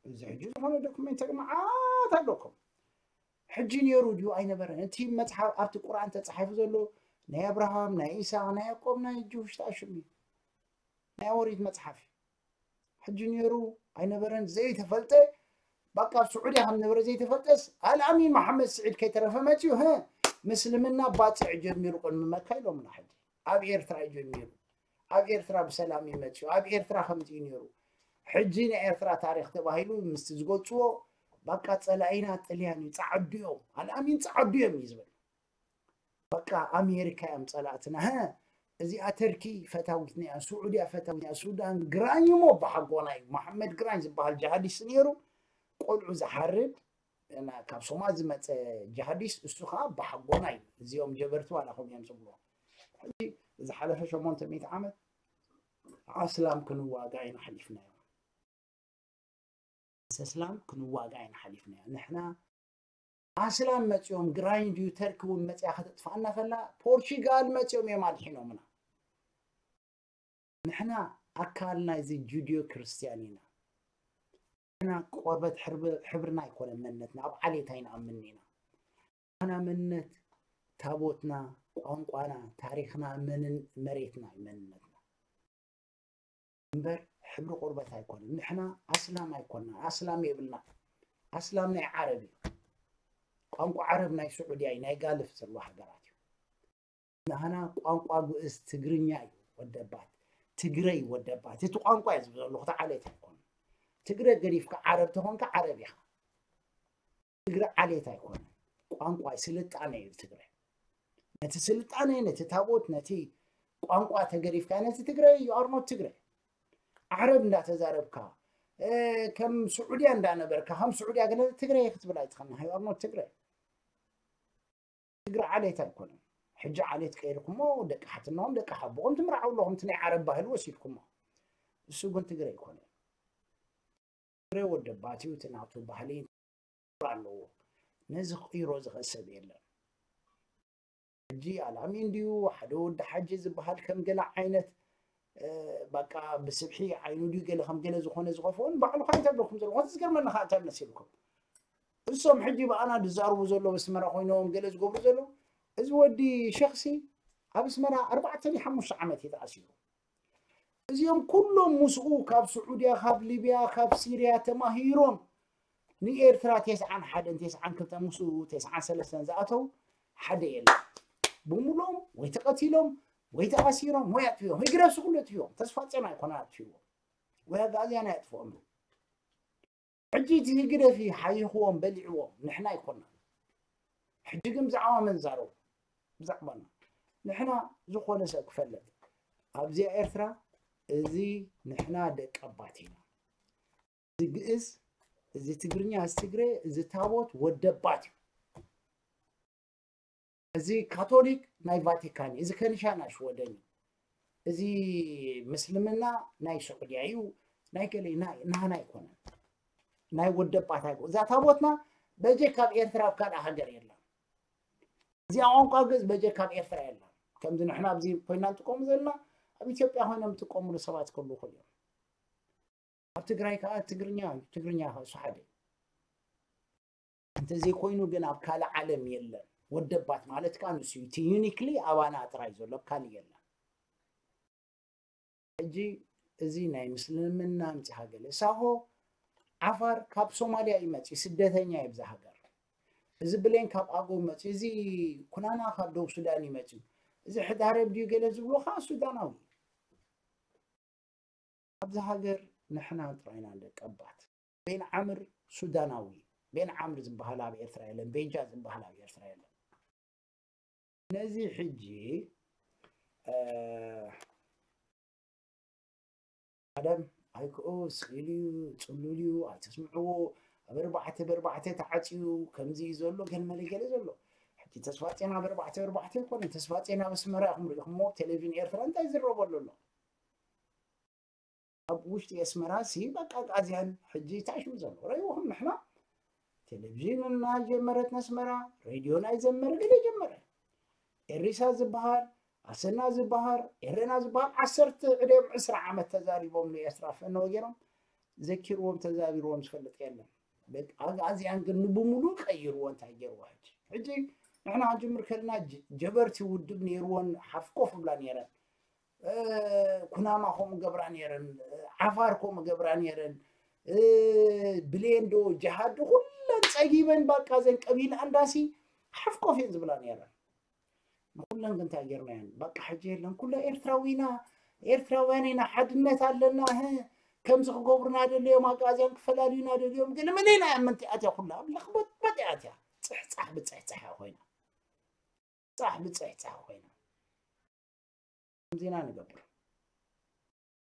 እዚ ሕጂ ዝኾነ ዶክመንተሪ መዓት ኣለኩም። ሕጂ ነይሩ ድዩ ኣይነበረን? እቲ መጽሓፍ ኣብቲ ቁርኣን ተጻሒፉ ዘሎ ናይ ኣብርሃም፣ ናይ ኢሳቅ፣ ናይ ያዕቆብ፣ ናይ ጅውሽ ተኣሽሙ እዩ። ናይ ኦሪት መጽሓፍ እዩ። ሕጂ ነይሩ ኣይነበረን ዘይተፈልጠ በቃ ኣብ ስዑድያ ከም ነበረ ዘይተፈልጠስ ኣልኣሚን መሓመድ ስዒድ ከይተረፈ መፅዩ። ህ ምስልምና ባፅዕ ጀሚሩ ቅድሚ መካ ኢሎምና። ሕጂ ኣብ ኤርትራ እዩ ጀሚሩ። ኣብ ኤርትራ ብሰላም እዩ መፅዩ። ኣብ ኤርትራ ከምዚ እዩ ነይሩ። ሕጂ ናይ ኤርትራ ታሪክ ተባሂሉ ምስቲ ዝገልፅዎ በቃ ፀላኢና ጥልያን እዩ፣ ፃዕዱ እዮም፣ ኣልኣሚን ፃዕዱ እዮም እዩ ዝብል። በቃ ኣሜሪካ እዮም ፀላእትና። ሀ እዚኣ ተርኪ ፈታዊትና እያ፣ ስዑድያ ፈታዊትና እያ፣ ሱዳን ግራኝ እሞ ኣባሓጎና እዩ። መሓመድ ግራኝ ዝበሃል ጃሃዲስት ነይሩ። ቆልዑ ዝሓርድ፣ እና ካብ ሶማል ዝመፀ ጃሃዲስት እሱ ከዓ ኣባሓጎና እዩ። እዚኦም ጀበርቲ ዋላ ከምኡ እዮም ዝብልዎ። ሕጂ ዝሓለፈ ሸሞንተ ሚእቲ ዓመት ኣስላም ክንዋጋ ኢና ሓሊፍናዮ። ኣስላም ክንዋጋ ኢና ሓሊፍናዮ። ንሕና ኣስላም መፂኦም ግራኝ ድዩ ተርኪ እውን መፂኣ ከተጥፋእና ከላ ፖርቹጋል መፂኦም እዮም ኣድሒኖምና። ንሕና ኣካል ናይዚ ጁድዮ ክርስትያን ኢና። ንሕና ቆርበት ሕብሪ- ሕብርና ኣይኮነን መንነትና፣ ኣብ ዓሌት ኣይንኣምን ኢና። ንሕና መንነት ታቦትና፣ ቋንቋና፣ ታሪክና፣ መንን መሬትና እዩ መንነትና። እምበር ሕብሪ ቆርበት ኣይኮነን። ንሕና ኣስላም ኣይኮና፣ ኣስላም የብልና። ኣስላም ናይ ዓረብ እዩ። ቋንቋ ዓረብ ናይ ስዑድያ እዩ፣ ናይ ጋልፍ ዘለዋ ሃገራት እዩ። ንሕና ቋንቋ ግእዝ ትግርኛ እዩ ወደባት፣ ትግረ እዩ ወደባት። እቲ ቋንቋ እዩ ዝብል ዘለኹ፣ እቲ ዓሌት ኣይኮነን። ትግረ ገዲፍካ ዓረብ ተኾንካ ዓረብ ኢኻ። ትግረ ዓሌት ኣይኮነን፣ ቋንቋ ስልጣነ እዩ ትግረ። ነቲ ስልጣነ፣ ነቲ ታቦት፣ ነቲ ቋንቋ ተገዲፍካ ነቲ ትግረ you are not ትግረ። ዓረብ እንዳተዛረብካ እ፣ ከም ስዑድያ እንዳነበርካ ከም ስዑድያ ገለ ትግረ ክትብል ኣይትኽእልን። You are not ትግረ። ትግረ ዓሌት ኣይኮነን። ሕጂ ዓሌት ቀይርኩሞ ደቂ ሓትናኦም ደቂ ሓቦኦም ትምርዓው ኣለኹም። እቲ ናይ ዓረብ ባህሊ ወሲድኩሞ። እሱ ግን ትግረ ኣይኮነን። ትግረ ወደባት እዩ፣ እቲ ናቱ ባህሊ ኣለዎ። ነዚ ክቕይሮ ዝኽእል ሰብ የለን። ሕጂ ኣልኣሚን ድዩ ሓደ ወዲ ሓጂ ዝበሃል ከም ገለ ዓይነት እ፣ በቃ ብስብሒ ዓይኑ ድዩ ገለ ከም ገለ ዝኾነ ዝኸፍኦን ባዕሉ ከዓ እንታይ ብለኩም ዘለኹም? እቲ ዝገርመኒ ከዓ እንታይ መሲልኩም? እሶም ሕጂ ብኣና ዝዛርቡ ዘለዉ ኣስመራ ኮይኖም ገለ ዝገብሩ ዘለዉ፣ እዚ ወዲ ሸኽሲ ኣብ ኣስመራ ኣርባዕተ ድዩ ሓሙሽተ ዓመት እዩ ተኣሲሩ። እዚኦም ኩሎም ምስኡ ካብ ስዑድያ፣ ካብ ሊብያ፣ ካብ ሲርያ ተማሂሮም ንኤርትራ ተስዓን ሓደን ተስዓን ክልተን ምስኡ ተስዓን ሰለስተን ዝኣተው ሓደ የለን። ብምሎም ወይ ተቐቲሎም ወይ ተኣሲሮም ወይ ኣጥፊኦም። ህግደፍ ኩሉ ኣጥፊኦም። ተስፋ ጼና ኣይኮነ ኣጥፊዎም። ወይ ኣጋዝያን ኣየጥፍኦም። ሕጂ እቲ ህግደፍ ሓይኽዎም በሊዕዎም። ንሕና ኣይኮና። ሕጂ ግን ብዛዕባ መን ዛረቡ? ብዛዕባና። ንሕና ዝኾነ ሰብ ክፈልጥ ኣብዚኣ ኤርትራ እዚ ንሕና ደቂ ኣባት ኢና። እዚ ግእዝ፣ እዚ ትግርኛ፣ እዚ ትግረ፣ እዚ ታቦት ወደባት እዩ። እዚ ካቶሊክ ናይ ቫቲካን እዩ። እዚ ከኒሻ ናይ ሽወደን እዩ። እዚ ምስልምና ናይ ስዑድያ እዩ። ናይ ገለ ናይ ናህና ኣይኮነን። ናይ ወደባት ኣይኮ እዛ ታቦትና በጀ ካብ ኤርትራ ኣብ ካልእ ሃገር የለን። እዚኣ ቋንቋ ግእዝ በጀ ካብ ኤርትራ የለን። ከምዚ ንሕና ኣብዚ ኮይና ንጥቀሙ ዘለና ኣብ ኢትዮጵያ ኮይኖም ዝጥቀሙሉ ሰባት ክህልዉ ይኽእሉ እዮም። ኣብ ትግራይ ከዓ ትግርኛ እዩ። ትግርኛ ከዓ እሱ ሓደ እዩ። እንተዘይኮይኑ ግን ኣብ ካልእ ዓለም የለን። ወደባት ማለት ከዓ ንሱ እዩ። እቲ ዩኒክሊ ኣባና ጥራይ ዘሎ፣ ኣብ ካልእ የለን። ሕጂ እዚ ናይ ምስልምና ኣምፂኻ ገለ ሳሆ ዓፋር ካብ ሶማልያ እዩ መፅዩ፣ ስደተኛ እዩ ብዛ ሃገር። እዚ ብሌን ካብ ኣጎ መፅዩ፣ እዚ ኩናማ ካብ ደቡብ ሱዳን እዩ መፅዩ። እዚ ሕዳረብ ድዩ ገለ ዝብሎ ከዓ ሱዳናዊ እዩ። ኣብዚ ሃገር ንሕና ጥራይና ደቀባት። ቤን ዓምር ሱዳናዊ፣ ቤን ዓምር ዝበሃል ኣብ ኤርትራ የለን፣ ቤጃ ዝበሃል ኣብ ኤርትራ የለን። ነዚ ሕጂ እ፣ ቀደም ኣይክኡ ስኢሉ እዩ፣ ጽሉል እዩ፣ ኣይተስምዕዎ፣ ኣብ ኣርባዕተ ብኣርባዕተ ተዓጽዩ ከምዚ እዩ ዘሎ፣ ገለ መለ ገለ ዘሎ። ሕጂ ተስፋ ጤና ኣብ ኣርባዕተ ብኣርባዕተ ኣይኮነን፣ ተስፋ ጤና ኣብ ኣስመራ ኢኹም ርኢኹሞ፣ ኣብ ቴሌቪዥን ኤርትራ እንታይ ዝረበሉ ኣሎ? ኣብ ውሽጢ ኣስመራ ሲ በቃ ኣጋዝያን ሕጂ እንታይ ሽሙ ዘሎ ረይዎም ንሕና ቴሌቪዥን እናጀመረት ነስመራ ሬድዮ ናይ ዘመረ ገለ ጀመረ ኤሪሳ ዝበሃል ኣሰና ዝበሃል ኤረና ዝበሃል ዓሰርተ ዕድም ዕስራ ዓመት ተዛሪቦም ንኤርትራ ፈነው ገይሮም ዘኪርዎም ተዛቢርዎም ዝፈልጥ የለን። በቃ ኣጋዝያን ግን ንብሙሉ ቀይርዎ እንታይ ገይርዎ ሕጂ ሕጂ ንሕና ክንጅምር ከለና ጀ- ጀበርቲ ውድብ ነይርዎን ሓፍኮፍ ብላ ነይረን ኩናማ ከምኡ ገብራ ነይረን፣ ዓፋር ከምኡ ገብራ ነይረን፣ ብሌን ዶ ጅሃድ ዶ ኩለን ጸጊበን በቃ ዘን ቀቢላ ኣንዳሲ ሓፍኮፍ እየን ዝብላ ነይረን። ንኩለን ግን እንታይ ጌርናየን? በቃ ሕጂ የለን ኩለ ኤርትራዊና ኤርትራውያን ኢና ሓድነት ኣለና ህ ከምዚ ክገብሩና ደልዮም ኣግኣዝያን ክፈላልዩና ደልዮም ግን መለና እያ ምንቲኣት እያ ኩላ ኣብ ለኽበጥበጥ እያ እትያ ጽሕጻሕ ብጽሕጻሕ እያ ኮይና ጻሕ ብጽሕጻሕ ኮይና ከምዚና ንገብር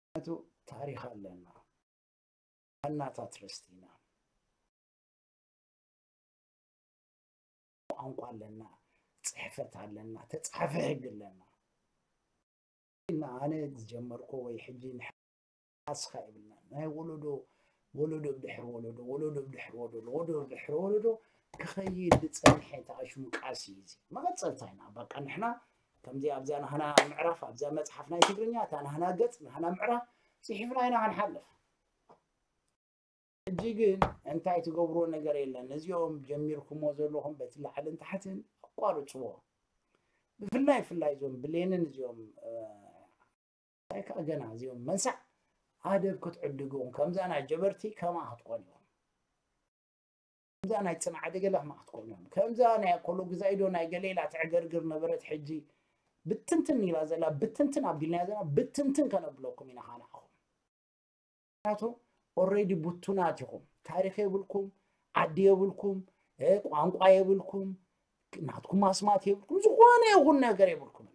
ምክንያቱ ታሪኽ ኣለና ዋናታት ርስቲና ቋንቋ ኣለና ፅሕፈት ኣለና ተፃሓፈ ህግ ኣለና እና ኣነ ዝጀመርኮ ወይ ሕጂ ንሓስኻ የብልና ናይ ወለዶ ወለዶ ብድሕሪ ወለዶ ወለዶ ብድሕሪ ወለዶ ወለዶ ብድሕሪ ወለዶ ክኸይድ ዝፀንሐ ተኣሽሙ ቃልሲ እዩ እዚ መቐፀልታ ኢና በቃ ንሕና ከምዚ ኣብዛ ናህና ምዕራፍ ኣብዛ መፅሓፍ ናይ ትግርኛ እታ ናህና ገፅ ናህና ምዕራፍ ፅሒፍና ኢና ክንሓልፍ ሕጂ ግን እንታይ ትገብርዎ ነገር የለን ነዚኦም ጀሚርኩሞ ዘለኹም በቲ ላዕልን ታሕትን ኣቋርፅዎ ብፍላይ ፍላይ እዞም ብሌንን እዚኦም እንታይ ከዓ ገና እዚኦም መንሳዕ ኣደብ ክትዕድጉ ከምዛ ናይ ጀበርቲ ከማ ክትኮኑ ኢኹም ከምዛ ናይ ፅንዓደ ገለ ከማ ክትኮኑ ኢኹም ከምዛ ናይ ኣኮሎ ግዛኢዶ ናይ ገሌላ ትዕገርግር ነበረት ሕጂ ብትንትን ኢላ ዘላ ብትንትን ኣቢልና ዘላ ብትንትን ከነብለኩም ኢና ካናኹም ምክንያቱ already ብቱናት ኢኹም ታሪኽ የብልኩም ዓዲ የብልኩም ቋንቋ የብልኩም ናትኩም ኣስማት የብልኩም ዝኾነ ይኹን ነገር የብልኩም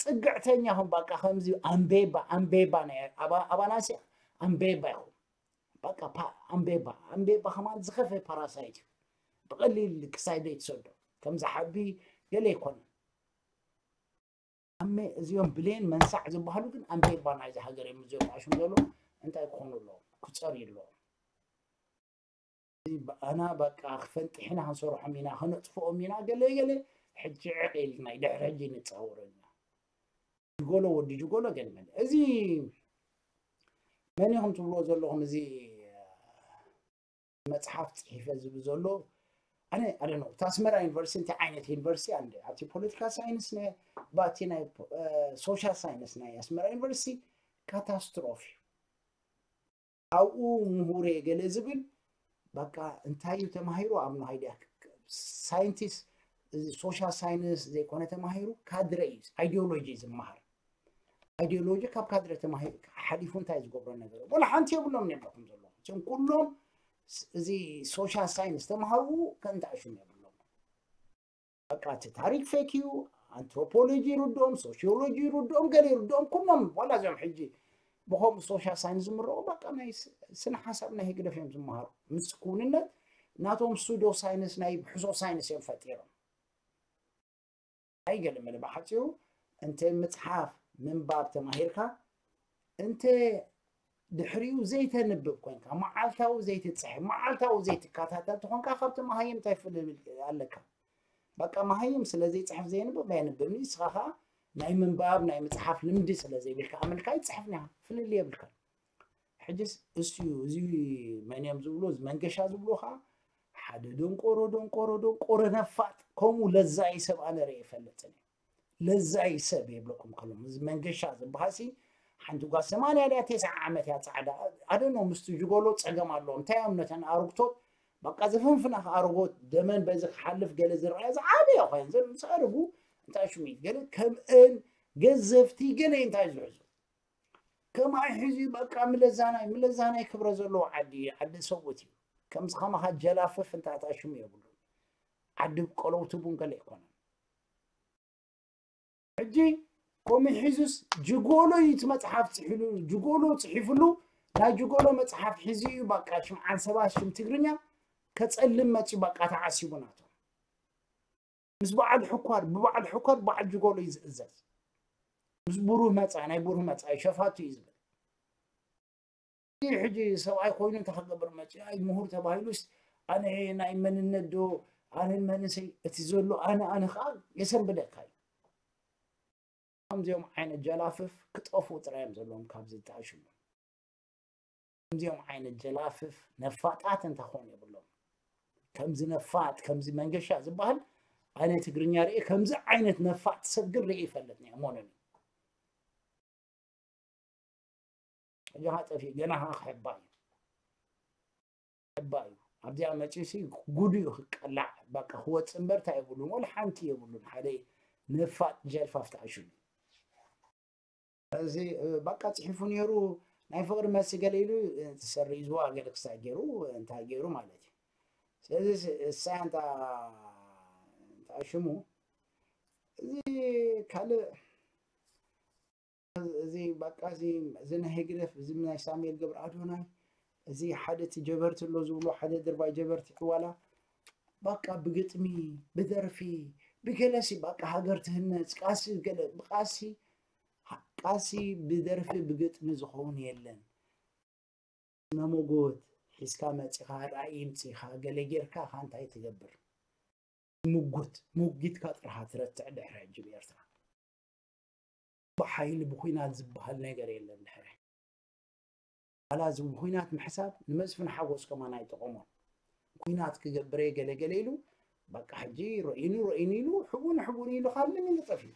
ፅግዕተኛ ኹም በቃ ከምዚ ኣምቤባ ኣምቤባ ኣባናሲ ኣምቤባ ኢኹም በቃ ኣምቤባ ኣምቤባ ከማን ዝኸፈ ፓራሳይት እዩ ብቐሊል ክሳይ ዘይትሰዶ ከምዚ ሓቢ ገለ ኣይኮነን ኣሜ እዚኦም ብሌን መንሳዕ ዝበሃሉ ግን ኣምቤባ ናይዚ ሃገር እዮም እዚኦም ኣሽም ዘሎ እንታይ ክኾኑ ኣለዎም ክፀርዩ ኣለዎም ኣና በቃ ክፈንጢሕና ክንሰርሖም ኢና ክነጥፍኦም ኢና ገለ ገለ ሕጂ ዕቕ ኢልና ድሕሪ ሕጂ ንፃወሮ ኢና ጅጎሎ ወዲ ጅጎሎ ገለ መለ እዚ መን ኢኹም ትብልዎ ዘለኹም እዚ መፅሓፍ ፅሒፈ ዝብል ዘሎ ኣነ ኣደነ እቲ ኣስመራ ዩኒቨርሲቲ እንታይ ዓይነት ዩኒቨርሲቲ ኣንደ ኣብቲ ፖለቲካ ሳይንስ ነ ባቲ ናይ ሶሻል ሳይንስ ናይ ኣስመራ ዩኒቨርሲቲ ካታስትሮፍ እዩ ኣብኡ ምሁር እየ ገለ ዝብል በቃ እንታይ እዩ ተማሂሩ ኣብ ንሃይድያ ሳይንቲስት እዚ ሶሻል ሳይንስ ዘይኮነ ተማሂሩ ካድረ እዩ ኣይዲዮሎጂ ዝመሃር ኣይዲዮሎጂ ካብ ካድረ ተማሂሩ ሓሊፉ እንታይ ዝገብሮ ነገር ወላ ሓንቲ የብሎም ነብለኩም ዘለኹም እዞም ኩሎም እዚ ሶሻል ሳይንስ ተማሃሩ ከንታሽም የብሎም በቃ እቲ ታሪክ ፌክ እዩ ኣንትሮፖሎጂ ይርድኦም ሶሲዮሎጂ ይርድኦም ገለ ይርድኦም ኩሎም ዋላ እዚኦም ሕጂ ብኸምኡ ሶሻል ሳይንስ ዝምረቑ በቃ ናይ ስነ ሓሳብ ናይ ህግደፍ እዮም ዝመሃሩ ምስ ክውንነት ናቶም ሱዶ ሳይንስ ናይ ብሕሶ ሳይንስ እዮም ፈጢሮም ኣይገለ መለ ብሓፂሩ እንተ ምፅሓፍ ምንባብ ተማሂርካ እንተ ድሕሪኡ ዘይተንብብ ኮንካ መዓልታዊ ዘይትፅሕፍ መዓልታዊ ዘይትከታተል ተኾንካ ካብቲ መሃይም እንታይ ፍልል ኣለካ በቃ መሃይም ስለ ዘይፅሕፍ ዘየንብብ ኣየንብብን ንስኻ ከዓ ናይ ምንባብ ናይ ምፅሓፍ ልምዲ ስለ ዘይብልካ ኣመልካ ይፅሕፍን ኢኻ ፍልል የብልካ ሕጅስ እሱ እዩ እዚ መን እዮም ዝብሎ እዚ መንገሻ ዝብሎ ከዓ ሓደ ደንቆሮ ደንቆሮ ደንቆሮ ነፋጥ ከምኡ ለዛይ ሰብ ኣነ ርእ ይፈልጥን እዩ ለዛይ ሰብ የብለኩም ከሎም እዚ መንገሻ ዝበሃሲ ሓንቲ ጓል ሰማንያ ድያ ተስዓ ዓመት እያ ፃዕዳ ኣደኖ ምስቲ ጅጎሎ ፀገም ኣለዎ እንታይ እዮም ነተን ኣርግቶት በቃ ዘፈንፍና ኣርጎት ደመን በዚ ክሓልፍ ገለ ዝረኣየ ዝዓበየ ኮይን ዘምስ ኣርጉ እንታይ ሽሚት ገለ ከምእን ገዘፍቲ ገለ እንታይ ዝሕዙ ከማይ ሕዚ በቃ ምለዛናይ ምለዛናይ ክብረ ዘለዎ ዓዲ ዓዲ ሰውት እዩ ከምዚ ከማኻ ጀላፍፍ እንታታ ሽሙ የብሉ ዓዲ ቆለውቲ ቡን ገለ ኣይኮነን ሕጂ ኮሚ ሒዙስ ጅጎሎ እዩ እቲ መፅሓፍ ፅሒሉ ጅጎሎ ፅሒፍሉ ናይ ጅጎሎ መፅሓፍ ሒዙ እዩ በቃ ሽምዓን ሰባት ሽም ትግርኛ ከፀልም መፂ በቃ ተዓሲቡ ናቶም ምስ በዓል ሕኳር ብበዓል ሕኳር በዓል ጅጎሎ እዩ ዝእዘዝ ምስ ብሩህ መፃ ናይ ብሩህ መፃ ሸፋቱ እዩ ዝብል ሕጂ ሰብኣይ ኮይኑ እንታይ ክገብር መፂ ኣይ ምሁር ተባሂሉስ ኣነ ናይ መንነት ዶ ኣነ መንሰይ እቲ ዘሎ ኣነ ኣነ ከዓ የሰንብደካ እዩ ከምዚኦም ዓይነት ጀላፍፍ ክጠፍኡ ጥራይ እዮም ዘለዎም ካብዚ ተኣሽሙ ከምዚኦም ዓይነት ጀላፍፍ ነፋጣት እንተኾኑ የብሎም ከምዚ ነፋጥ ከምዚ መንገሻ ዝበሃል ኣነ ትግርኛ ርእ ከምዚ ዓይነት ነፋጥ ሰብ ግን ርእ ይፈልጥ ነ ሞኖኒ ሕጂ ከዓ ጠፊኡ ገና ከዓ ክሕባ እዩ እባ እዩ ኣብዚኣ መፂኡ ሲ ጉዱ እዩ ክቀላዕ በቃ ክወፅእ እምበር እንታይ የብሉን ወላ ሓንቲ የብሉን ሓደ ነፋጥ ጀልፋፍ ተዓሽሉ እዚ በቃ ፅሒፉ ነይሩ ናይ ፍቅሪ መልሲ ገለ ኢሉ ተሰሪዝዋ ገለ ክሳብ ገይሩ እንታይ ገይሩ ማለት እዩ ስለዚ እሳ እንታ ሽሙ እዚ ካልእ እዚ በቃ እዚ እዚ ናይ ህግደፍ እዚ ናይ ሳሙኤል ገብረ ኣዶናይ እዚ ሓደ እቲ ጀበርቲ ኣሎ ዝብሎ ሓደ ድርባይ ጀበርቲ ዕዋላ በቃ ብግጥሚ ብደርፊ ብገለሲ በቃ ሃገር ትህነፅ ቃሲ ገለ ብቃሲ ቃሲ ብደርፊ ብግጥሚ ዝኸውን የለን ነሞጎት ሒዝካ መፂኻ ራእይ ምፂኻ ገለ ጌርካ ኻ እንታይ ትገብር ሙጉት ሙጊትካ ጥርሃ ትረትዕ ድሕሪ ሕጂ ብኤርትራ ብሓይሊ ብኩናት ዝበሃል ነገር የለን ድሕሪ ዋላ እዚ ብኩናት ምሕሳብ ንመስፍን ሓጎስ ከማን ኣይጠቐሞን ኩናት ክገብር እየ ገለ ገለ ኢሉ በቃ ሕጂ ረኢኑ ረኢኑ ኢሉ ሕቡን ሕቡን ኢሉ ካብ ለሚን ዝጠፍዩ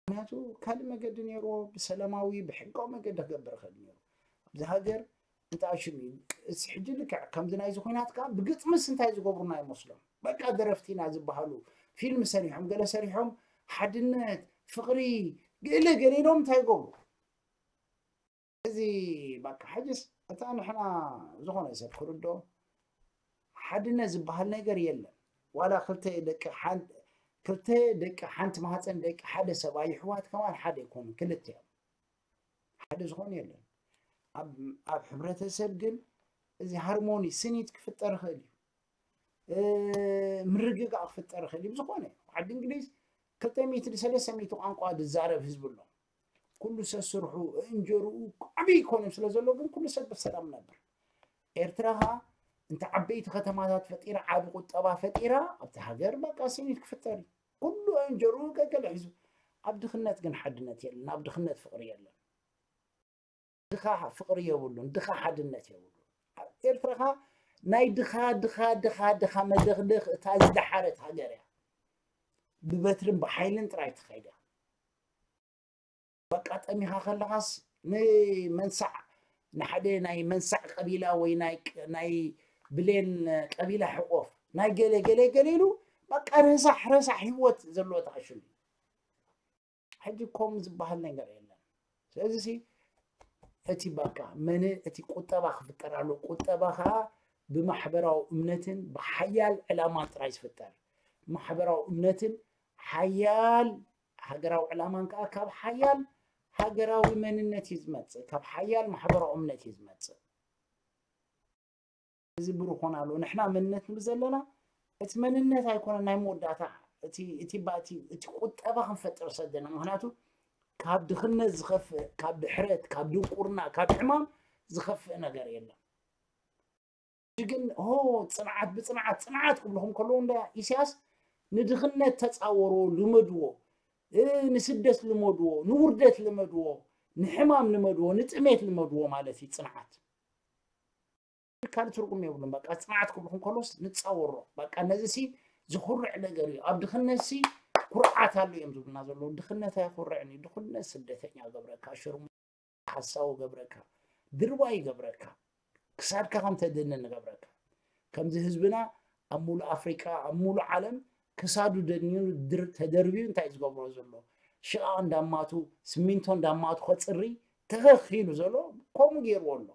ምክንያቱ ካልእ መገዲ ነይርዎ ብሰላማዊ ብሕጋዊ መገዲ ክገብር ይኽእል ነይሩ ኣብዚ ሃገር እንታይ ሽም እዩ እዚ ሕጂ ልክዕ ከምዚ ናይዚ ኩናት ከዓ ብግጥምስ እንታይ ዝገብሩና ይመስሎም በቃ ደረፍቲና ዝበሃሉ ፊልም ሰሪሖም ገለ ሰሪሖም ሓድነት ፍቅሪ ገለ ገለ ኢሎም እንታይ ይገብሩ እዚ በቃ ሕጅስ እታ ንሕና ዝኾነ ሰብ ክርዶ ሓድነት ዝበሃል ነገር የለን ዋላ ክልተ ደቂ ሓንቲ ክልተ ደቂ ሓንቲ ማህፀን ደቂ ሓደ ሰብኣይ ይሕዋት ከማን ሓደ ይኮኑ ክልተ እዮም ሓደ ዝኾነ የለን ኣብ ሕብረተሰብ ግን እዚ ሃርሞኒ ስኒት ክፍጠር ይኽእል እዩ ምርግጋእ ክፍጠር ይኽእል እዩ ብዝኾነ ዓዲ እንግሊዝ ክልተ ሚእቲ ንሰለስተ ሚእቲ ቋንቋ ዝዛረብ ህዝቢ ኣሎ ኩሉ ሰብ ስርሑ እንጀርኡ ዓብዪ ይኮነ ስለ ዘሎ ግን ኩሉ ሰብ ብሰላም ነብር ኤርትራ ኸዓ እንተ ዓበይቲ ከተማታት ፈጢራ ዓቢ ቁጠባ ፈጢራ ኣብቲ ሃገር በቃ ስኒት ክፍጠር እዩ ኩሉ እንጀርኡ ገገለ ሒዙ ኣብ ድኽነት ግን ሓድነት የለን ኣብ ድኽነት ፍቅሪ የለን ድኻ ፍቅሪ የብሉን ድኻ ሓድነት የብሉን ኤርትራ ኸዓ ናይ ድኻ ድኻ ድኻ ድኻ መደኽደኽ እታ ዝደሓረት ሃገር እያ ብበትርን ብሓይልን ጥራይ ትኸይድ እያ በቃ ጠሚኻ ከለኻስ ንመንሳዕ ንሓደ ናይ መንሳዕ ቀቢላ ወይ ናይ ብሌን ቀቢላ ሕቆፍ ናይ ገለ ገለ ገለ ኢሉ በቃ ረሳሕ ረሳሕ ህይወት ዘለዎ ተኣሽሉ ሕጂ ኮም ዝበሃል ነገር የለን ስለዚ እቲ በቃ መን እቲ ቁጠባ ክፍጠር ኣሎ ቁጠባ ከዓ ብማሕበራዊ እምነትን ብሓያል ዕላማን ጥራይ ዝፍጠር ማሕበራዊ እምነትን ሓያል ሃገራዊ ዕላማን ከዓ ካብ ሓያል ሃገራዊ መንነት እዩ ዝመፅእ ካብ ሓያል ማሕበራዊ እምነት እዩ ዝመፅእ እዚ ብሩኾን ኣሎ ንሕና መንነት ንብል ዘለና እቲ መንነት ኣይኮነ ናይ መወዳእታ እቲ እቲ ባቲ እቲ ቁጠባ ክንፈጥር ሰደና ምክንያቱ ካብ ድኽነት ዝኸፍእ ካብ ድሕረት ካብ ድንቁርና ካብ ሕማም ዝኸፍእ ነገር የለን ግን ሆ ፅንዓት ብፅንዓት ፅንዓት ክብልኹም ከለዉ እንዳ ኢሳያስ ንድኽነት ተፃወርዎ ልመድዎ ንስደት ልመድዎ ንውርደት ልመድዎ ንሕማም ልመድዎ ንጥሜት ልመድዎ ማለት እዩ ፅንዓት ካልእ ትርጉም የብሉን በቃ ፅንዓት ክብልኹም ከሎስ ንፃወሮ በቃ ነዚ ሲ ዝኹርዕ ነገር እዩ ኣብ ድኽነት ሲ ኩርዓት ኣሎ እዮም ዝብሉና ዘለዉ ድኽነት ኣየኹርዕን እዩ ድኽነት ስደተኛ ገብረካ ሽርሙ ሓሳዊ ገብረካ ድርባይ ገብረካ ክሳድካ ከም ተድንን ገብረካ ከምዚ ህዝብና ኣብ ሙሉእ ኣፍሪቃ ኣብ ሙሉእ ዓለም ክሳዱ ደኒኑ ተደርብዩ እንታይ ዝገብሮ ዘሎ ሽቓቕ እንዳማቱ ስሚንቶ እንዳማቱ ከፅሪ ተኸኺሉ ዘሎ ከምኡ ገይርዎ ኣሎ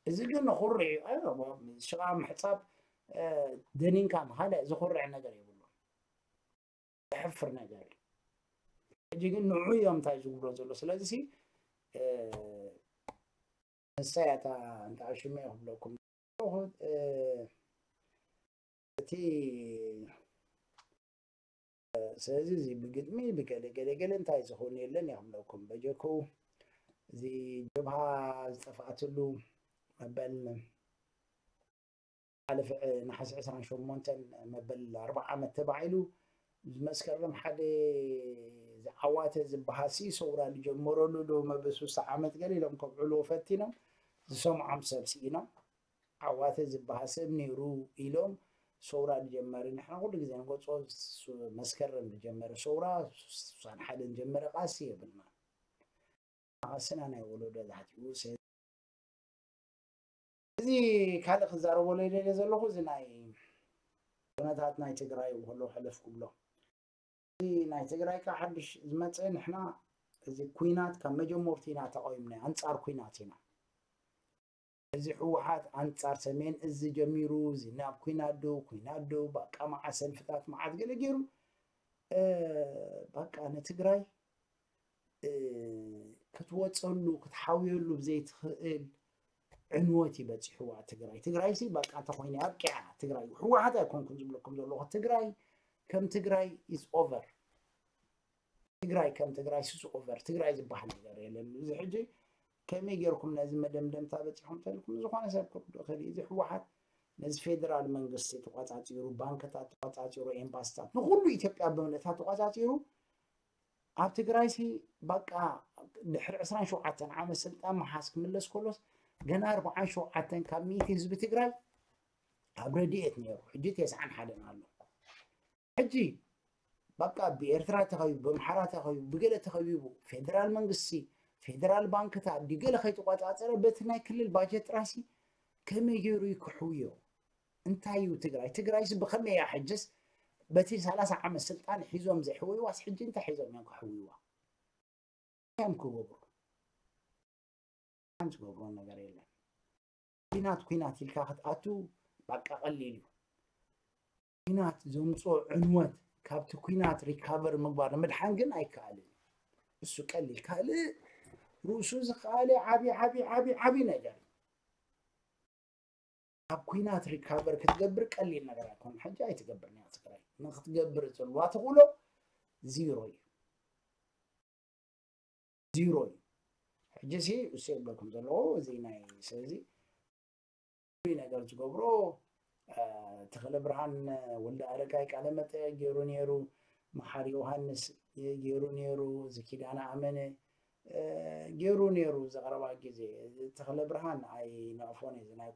እዚ ግን ንኹርዕ እዩ ሽቓቕ ምሕፃብ ደኒንካ ምኻልእ ዝኹርዕ ነገር የብሉ ዘሕፍር ነገር እዩ ሕጂ ግን ንዑ እዮም እንታይ ዝብሎ ዘሎ ስለዚ ንሳይ ኣታ እንታይ ሽመ ክብለኩም እቲ ስለዚ እዚ ብግጥሚ ብገለ ገለ ገለ እንታይ ዝኸውን የለን እያ ክብለኩም በጀኩ እዚ ጀብሃ ዝጠፍኣትሉ መበል ሓለፈ ነሓሰ ዕስራን ሸሞንተን መበል ኣርብዓ ዓመት ተባሂሉ መስከረም ሓደ ዝዓዋተ ዝበሃሲ ሰውራ ዝጀመረሉ ዶ መበል ሱሳ ዓመት ገለ ኢሎም ከብዕልዎ ፈቲኖም ዝሰምዖም ሰብ ስኢኖም ዓዋተ ዝበሃል ሰብ ነይሩ ኢሎም ሰውራ ዝጀመረ ንሕና ኩሉ ግዜ ንገጾ መስከረም ዝጀመረ ሰውራ ሱሳን ሓደን ጀመረ ቃሲ የብልና ቃስና ናይ ወለዶ ዛሕቲኡ እዚ ካልእ ክዛረበሉ ይደልየ ዘለኹ፣ እዚ ናይ ኩነታት ናይ ትግራይ ከሎ ሕልፍ ክብሎ። እዚ ናይ ትግራይ ካብ ሓድሽ ዝመፀ፣ ንሕና እዚ ኩናት ካብ መጀመርቱ ኢና ተቃዊምና፣ ኣንፃር ኩናት ኢና። እዚ ህወሓት ኣንፃር ሰሜን እዚ ጀሚሩ፣ እዚ ናብ ኩናት ዶ ኩናት ዶ፣ በቃ መዓት ሰልፍታት መዓት ገለ ገይሩ፣ በቃ ንትግራይ ክትወፀሉ ክትሓውየሉ ብዘይትኽእል ዕንወት እዩ በፂሕዋ ትግራይ። ትግራይ ሲ በቃ እንተኮይነ ኣብቂዓ ትግራይ። ህወሓት ኣይኮንኩን ዝብለኩም ዘለኹ፣ ትግራይ ከም ትግራይ is over። ትግራይ ከም ትግራይ ሱስ ኦቨር፣ ትግራይ ዝበሃል ነገር የለን። እዚ ሕጂ ከመይ ገይርኩም ነዚ መደምደምታ በፂኹም ተልኩም? ዝኾነ ሰብ ክርድኦ ይኽእል እዩ። እዚ ህወሓት ነዚ ፌደራል መንግስቲ ተቋፃፂሩ፣ ባንክታት ተቋፃፂሩ፣ ኤምባስታት ንኩሉ ኢትዮጵያ ብምልእታ ተቋፃፂሩ፣ ኣብ ትግራይ ሲ በቃ ድሕሪ ዕስራን ሸውዓተን ዓመት ስልጣን መሓዝ ክምለስ ከሎስ ገና ኣርባዓን ሸውዓተን ካብ ሚእቲ ህዝቢ ትግራይ ኣብ ረድኤት ነይሩ። ሕጂ ተስዓን ሓደን ኣሎ። ሕጂ በቃ ብኤርትራ ተኸቢቡ፣ ብኣምሓራ ተኸቢቡ፣ ብገለ ተኸቢቡ፣ ፌደራል መንግስቲ፣ ፌደራል ባንክታት ድዩ ገለ ከይተቋፃፀረ በቲ ናይ ክልል ባጀት ጥራይሲ ከመይ ገይሩ እዩ ክሕውዮ? እንታይ እዩ ትግራይ? ትግራይሲ ብኸመይ እያ ሕጅስ በቲ ሰላሳ ዓመት ስልጣን ሒዞም ዘይሕውይዋስ ሕጂ እንታይ ሒዞም እዮም ክሕውይዋ? እዮም ክገብሩ? ሓንቲ ዝገብሮ ነገር የለን። ኩናት ኩናት ኢልካ ክትኣቱ በቃ ቀሊል እዩ። ኩናት ዘምፅኦ ዕንወት ካብቲ ኩናት ሪካቨር ምግባር ንምድሓን ግን ኣይከኣልን። እሱ ቀሊል ካልእ ርእሱ ዝኸኣለ ዓብዪ ዓብዪ ዓብዪ ዓብዪ ነገር እዩ። ካብ ኩናት ሪካቨር ክትገብር ቀሊል ነገር ኣይኮነን። ሕጂ ኣይትገብርን እያ ትግራይ። ንክትገብር ዘለዋ ተኽእሎ ዚሮ እዩ። ዚሮ እዩ። ሕጂ ሲ እሱ የብለኩም ዘለዎ እዚ ናይ ስለዚ ፍሉይ ነገር ዝገብሮ ተኽለ ብርሃን ወልደ ኣረጋይ ቃለ መጠየቅ ገይሩ ነይሩ። መሓሪ ዮሃንስ ገይሩ ነይሩ። እዚ ኪዳነ ኣመነ ገይሩ ነይሩ። ዘቕረባ ግዜ ተኽለ ብርሃን ኣይነቕፎን እዚ ናይ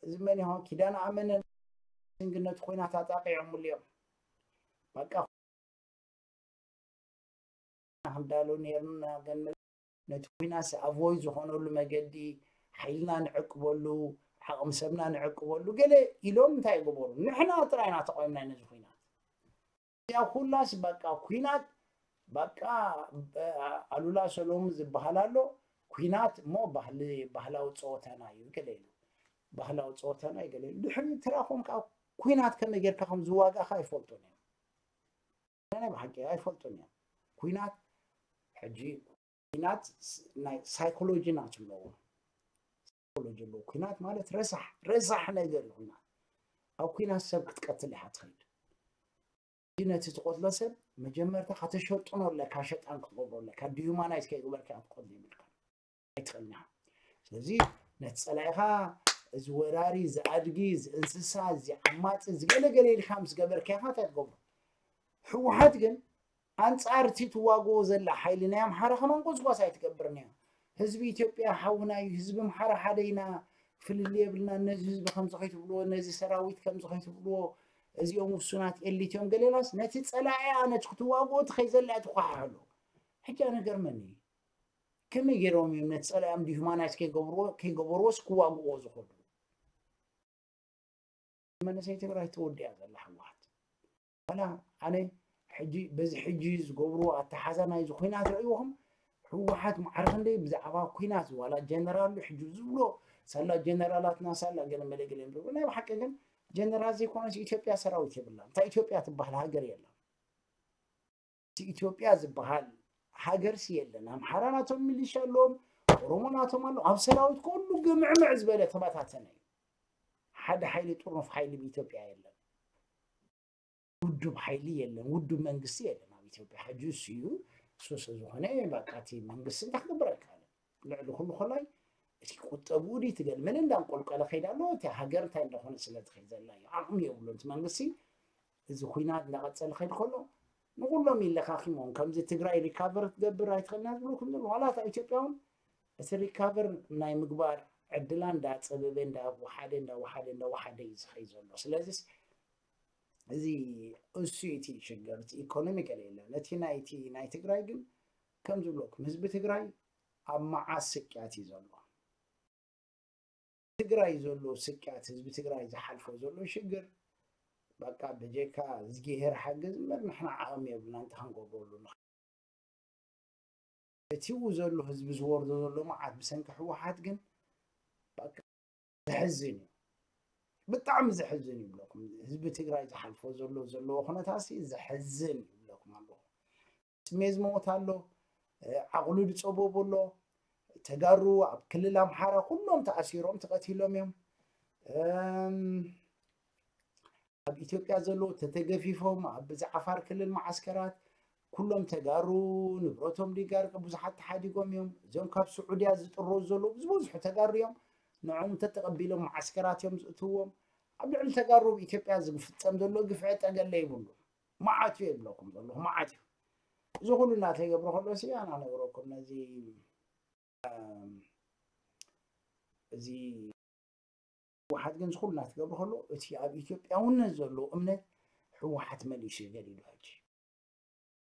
እዚ መን ይሆን ኪዳነ ኣመነ ንግነቱ ኮይና ታጣቂዖምሉ እዮም። በቃ ክንዳሎ ነርና ግን ነቲ ኩናት ኣቮይድ ዝኾነሉ መገዲ ሓይልና ንዕቅበሉ ዓቕሚ ሰብና ንዕቅበሉ ገለ ኢሎም እንታይ ይገበሩ? ንሕና ጥራይና ተቆይምና ነዚ ኩናት እዚኣ ኩላስ በቃ ኩናት በቃ ኣሉላ ሰሎሙ ዝበሃል ኣሎ። ኩናት እሞ ባህሊ ባህላዊ ፀወታና እዩ ገለ ኢሉ ባህላዊ ፀወታና እዩ ገለ ኢሉ ድሕሪ ትራኹም ከዓ ኩናት ከመይ ጌርካ ከም ዝዋጋእካ ኣይፈልጡን እዮም። ናይ ብሓቂ ኣይፈልጡን እዮም። ኩናት ሕጂ ኩናት ናይ ሳይኮሎጂ ናት ኣለዎ። ሳይኮሎጂ ኣለዎ። ኩናት ማለት ረሳሕ ረሳሕ ነገር እዩ። ኩናት ኣብ ኩናት ሰብ ክትቀትል ኢኻ ትኸይድ። ነቲ ትቆትሎ ሰብ መጀመርታ ከተሸጥኖ ኣለካ፣ ሸጣን ክትገብሮ ኣለካ። ዲሁማናይዝ ከይግበርካ ክትቆትሎ ይብልካ ኣይትኽእልና። ስለዚ ነቲ ፀላኢኻ እዚ ወራሪ፣ እዚ ኣድጊ፣ እዚ እንስሳ፣ እዚ ዓማፂ፣ እዚ ገለገለ ኢልካ ምስ ገበርካ ኢኻ እንታይ ትገብሮ? ህወሓት ግን ኣንፃር እቲ ትዋግኦ ዘላ ሓይሊ ናይ ኣምሓራ ከማን ጎስጓስ ኣይትገብርን እያ። ህዝቢ ኢትዮጵያ ሓውና እዩ፣ ህዝቢ ኣምሓራ ሓደ ኢና፣ ፍልልይ የብልና፣ ነዚ ህዝቢ ከምዚ ከይትብልዎ፣ ነዚ ሰራዊት ከምዚ ከይትብልዎ፣ እዚኦም ውሱናት ኤሊት እዮም ገሌላስ ነቲ ፀላኢ ኣነ ክትዋግኦ ትኸይ ዘላ ትኳሓሕሉ። ሕጂ ኣነ ገርመኒ እዩ። ከመይ ገይሮም እዮም ነቲ ፀላኢኦም ዲሁማናይዝ ከይገብርዎ ከይገበርዎስ ክዋግዎ ዝኽእሉ? መንእሰይ ትግራይ ተወዲኣ ዘላ ህወሓት ዋላ ኣነ ሕጂ በዚ ሕጂ ዝገብርዎ ኣተሓዛ ናይዚ ኩናት ርእይዎም ህወሓት ማዕረ ክንደይ ብዛዕባ ኩናት ዋላ ጀነራል ሕጂ ዝብሎ ሳላ ጀነራላትና ሳላ ገለ መለ ገለ ይብሉ። ናይ ብሓቂ ግን ጀነራል ዘይኮነስ ኢትዮጵያ ሰራዊት የብላ። እንታይ ኢትዮጵያ ትበሃል ሃገር የላ። እቲ ኢትዮጵያ ዝበሃል ሃገርሲ የለን። ኣምሓራ ናቶም ሚሊሻ ኣለዎም፣ ኦሮሞ ናቶም ኣሎ። ኣብ ሰራዊት ኩሉ ግምዕምዕ ዝበለ ተበታተነ እዩ። ሓደ ሓይሊ ጥርኑፍ ሓይሊ ብኢትዮጵያ የለን። ውዱብ ሓይሊ የለን፣ ውዱብ መንግስቲ የለን ኣብ ኢትዮጵያ። ሕጂ እሱ እዩ እሱ ስለዝኾነ በቃ እቲ መንግስቲ እንታይ ክገብር ኣይከኣለን። ልዕሊ ኩሉ ኮላይ እቲ ቁጠብኡ ድዩ ትገል ምን እንዳንቆልቀለ ከይዳ ኣሎ። እቲ ሃገር እንታይ እንዳኾነ ስለ ትኸይድ ዘላ እዩ። ዓቕሚ የብሉን እቲ መንግስቲ። እዚ ኩናት እንዳቐፀለ ከይድ ከሎ ንኩሎም ይለኻኺሞም። ከምዚ ትግራይ ሪካቨር ክትገብር ኣይትኽእልና ዝብልኩም ዘለዉ ዋላ እታ ኢትዮጵያ እውን እቲ ሪካቨር ናይ ምግባር ዕድላ እንዳፀበበ እንዳወሓደ እንዳወሓደ እንዳወሓደ እዩ ዝኸይድ ዘሎ። ስለዚስ እዚ እሱ እቲ ሽግር እቲ ኢኮኖሚ ገለ የለን። እቲ ናይቲ ናይ ትግራይ ግን ከም ዝብለኩም ህዝቢ ትግራይ ኣብ መዓስ ስቅያት እዩ ዘሎ። ትግራይ ዘሎ ስቅያት፣ ህዝቢ ትግራይ ዝሓልፎ ዘሎ ሽግር፣ በቃ ብጀካ እዝጊሄር ሓግዝ እምበር ንሕና ዓቕሚ የብልና እንታይ ክንገብረሉ ንኽእል። እቲ ኡ ዘሎ ህዝቢ ዝወርዶ ዘሎ መዓት ብሰንኪ ህወሓት ግን በቃ ዘሕዝን እዩ። ብጣዕሚ ዘሕዝን ይብለኩም። ህዝቢ ትግራይ ዝሓልፎ ዘሎ ዘለዎ ኩነታሲ ዘሕዝን ይብለኩም ኣለኹ። ስሜት ዝመውት ኣሎ፣ ዓቕሉ ዝፀበቡ ኣሎ። ተጋሩ ኣብ ክልል ኣምሓራ ኩሎም ተኣሲሮም ተቐቲሎም እዮም። እም፣ ኣብ ኢትዮጵያ ዘለዉ ተተገፊፎም ኣብ ብዚ ዓፋር ክልል መዓስከራት ኩሎም ተጋሩ ንብረቶም ዲጋር ብዙሓት ተሓዲጎም እዮም። እዚኦም ካብ ስዑድያ ዝጥረዙ ዘለዉ ዝበዝሑ ተጋሩ እዮም። ንዕኦም እንተተቐቢሎም መዓስከራት እዮም ዝእትዎም። ኣብ ልዕሊ ተጋሩ ኣብ ኢትዮጵያ ዝፍጸም ዘሎ ግፍዒ ጠገለ ይብሉ። መዓት እዩ የብለኩም ዘለኹ፣ መዓት እዩ። እዚ ኩሉ እናተገብረ ከሎ ሲ ኣና ነግረኩም ነዚ፣ እም፣ እዚ ህወሓት ግን ዝኹሉ እናተገብረ ከሎ እቲ ኣብ ኢትዮጵያውነት ዘሎ እምነት ህወሓት መሊሱ እዩ ገዲሉ። ሕጂ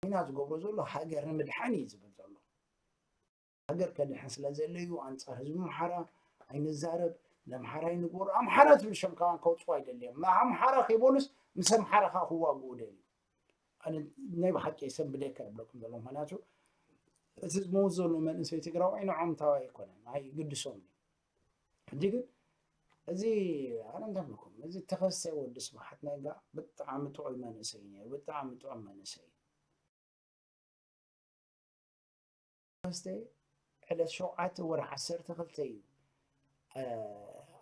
ኢና ዝገብሮ ዘሎ ሃገር ንምድሓን እዩ ዝብል ዘሎ። ሃገር ከድሕን ስለ ዘለ እዩ ኣንጻር ህዝቢ ኣምሓራ ኣይንዛረብ፣ ንኣምሓራ ኣይንግበሮ። ኣምሓራ ትብል ሸም ከማን ከውፅኡ ኣይደልዮም። ኣምሓራ ከይበሉስ ምስ ኣምሓራ ከዓ ክዋግኡ ደልዩ። ኣነ ናይ ብሓቂ የሰንብደካ ይብለኩም ዘሎ። ምኽንያቱ እቲ ዝመውት ዘሎ መንእሰይ ትግራዋይ ንዖም ታዋይ ኣይኮነን፣ ኣይግድሶም እዩ። ሕጂ ግን እዚ ኣነ እንታይ ብለኩም፣ እዚ ተኸስተ ወዲ ስብሓት ነጋ ብጣዕሚ ጥዑይ መንእሰይ እዩ ነይሩ፣ ብጣዕሚ ጥዑም መንእሰይ እዩ። ተኸስተ ዕለት ሸውዓተ ወርሒ ዓሰርተ ክልተ እዩ፣ እ፣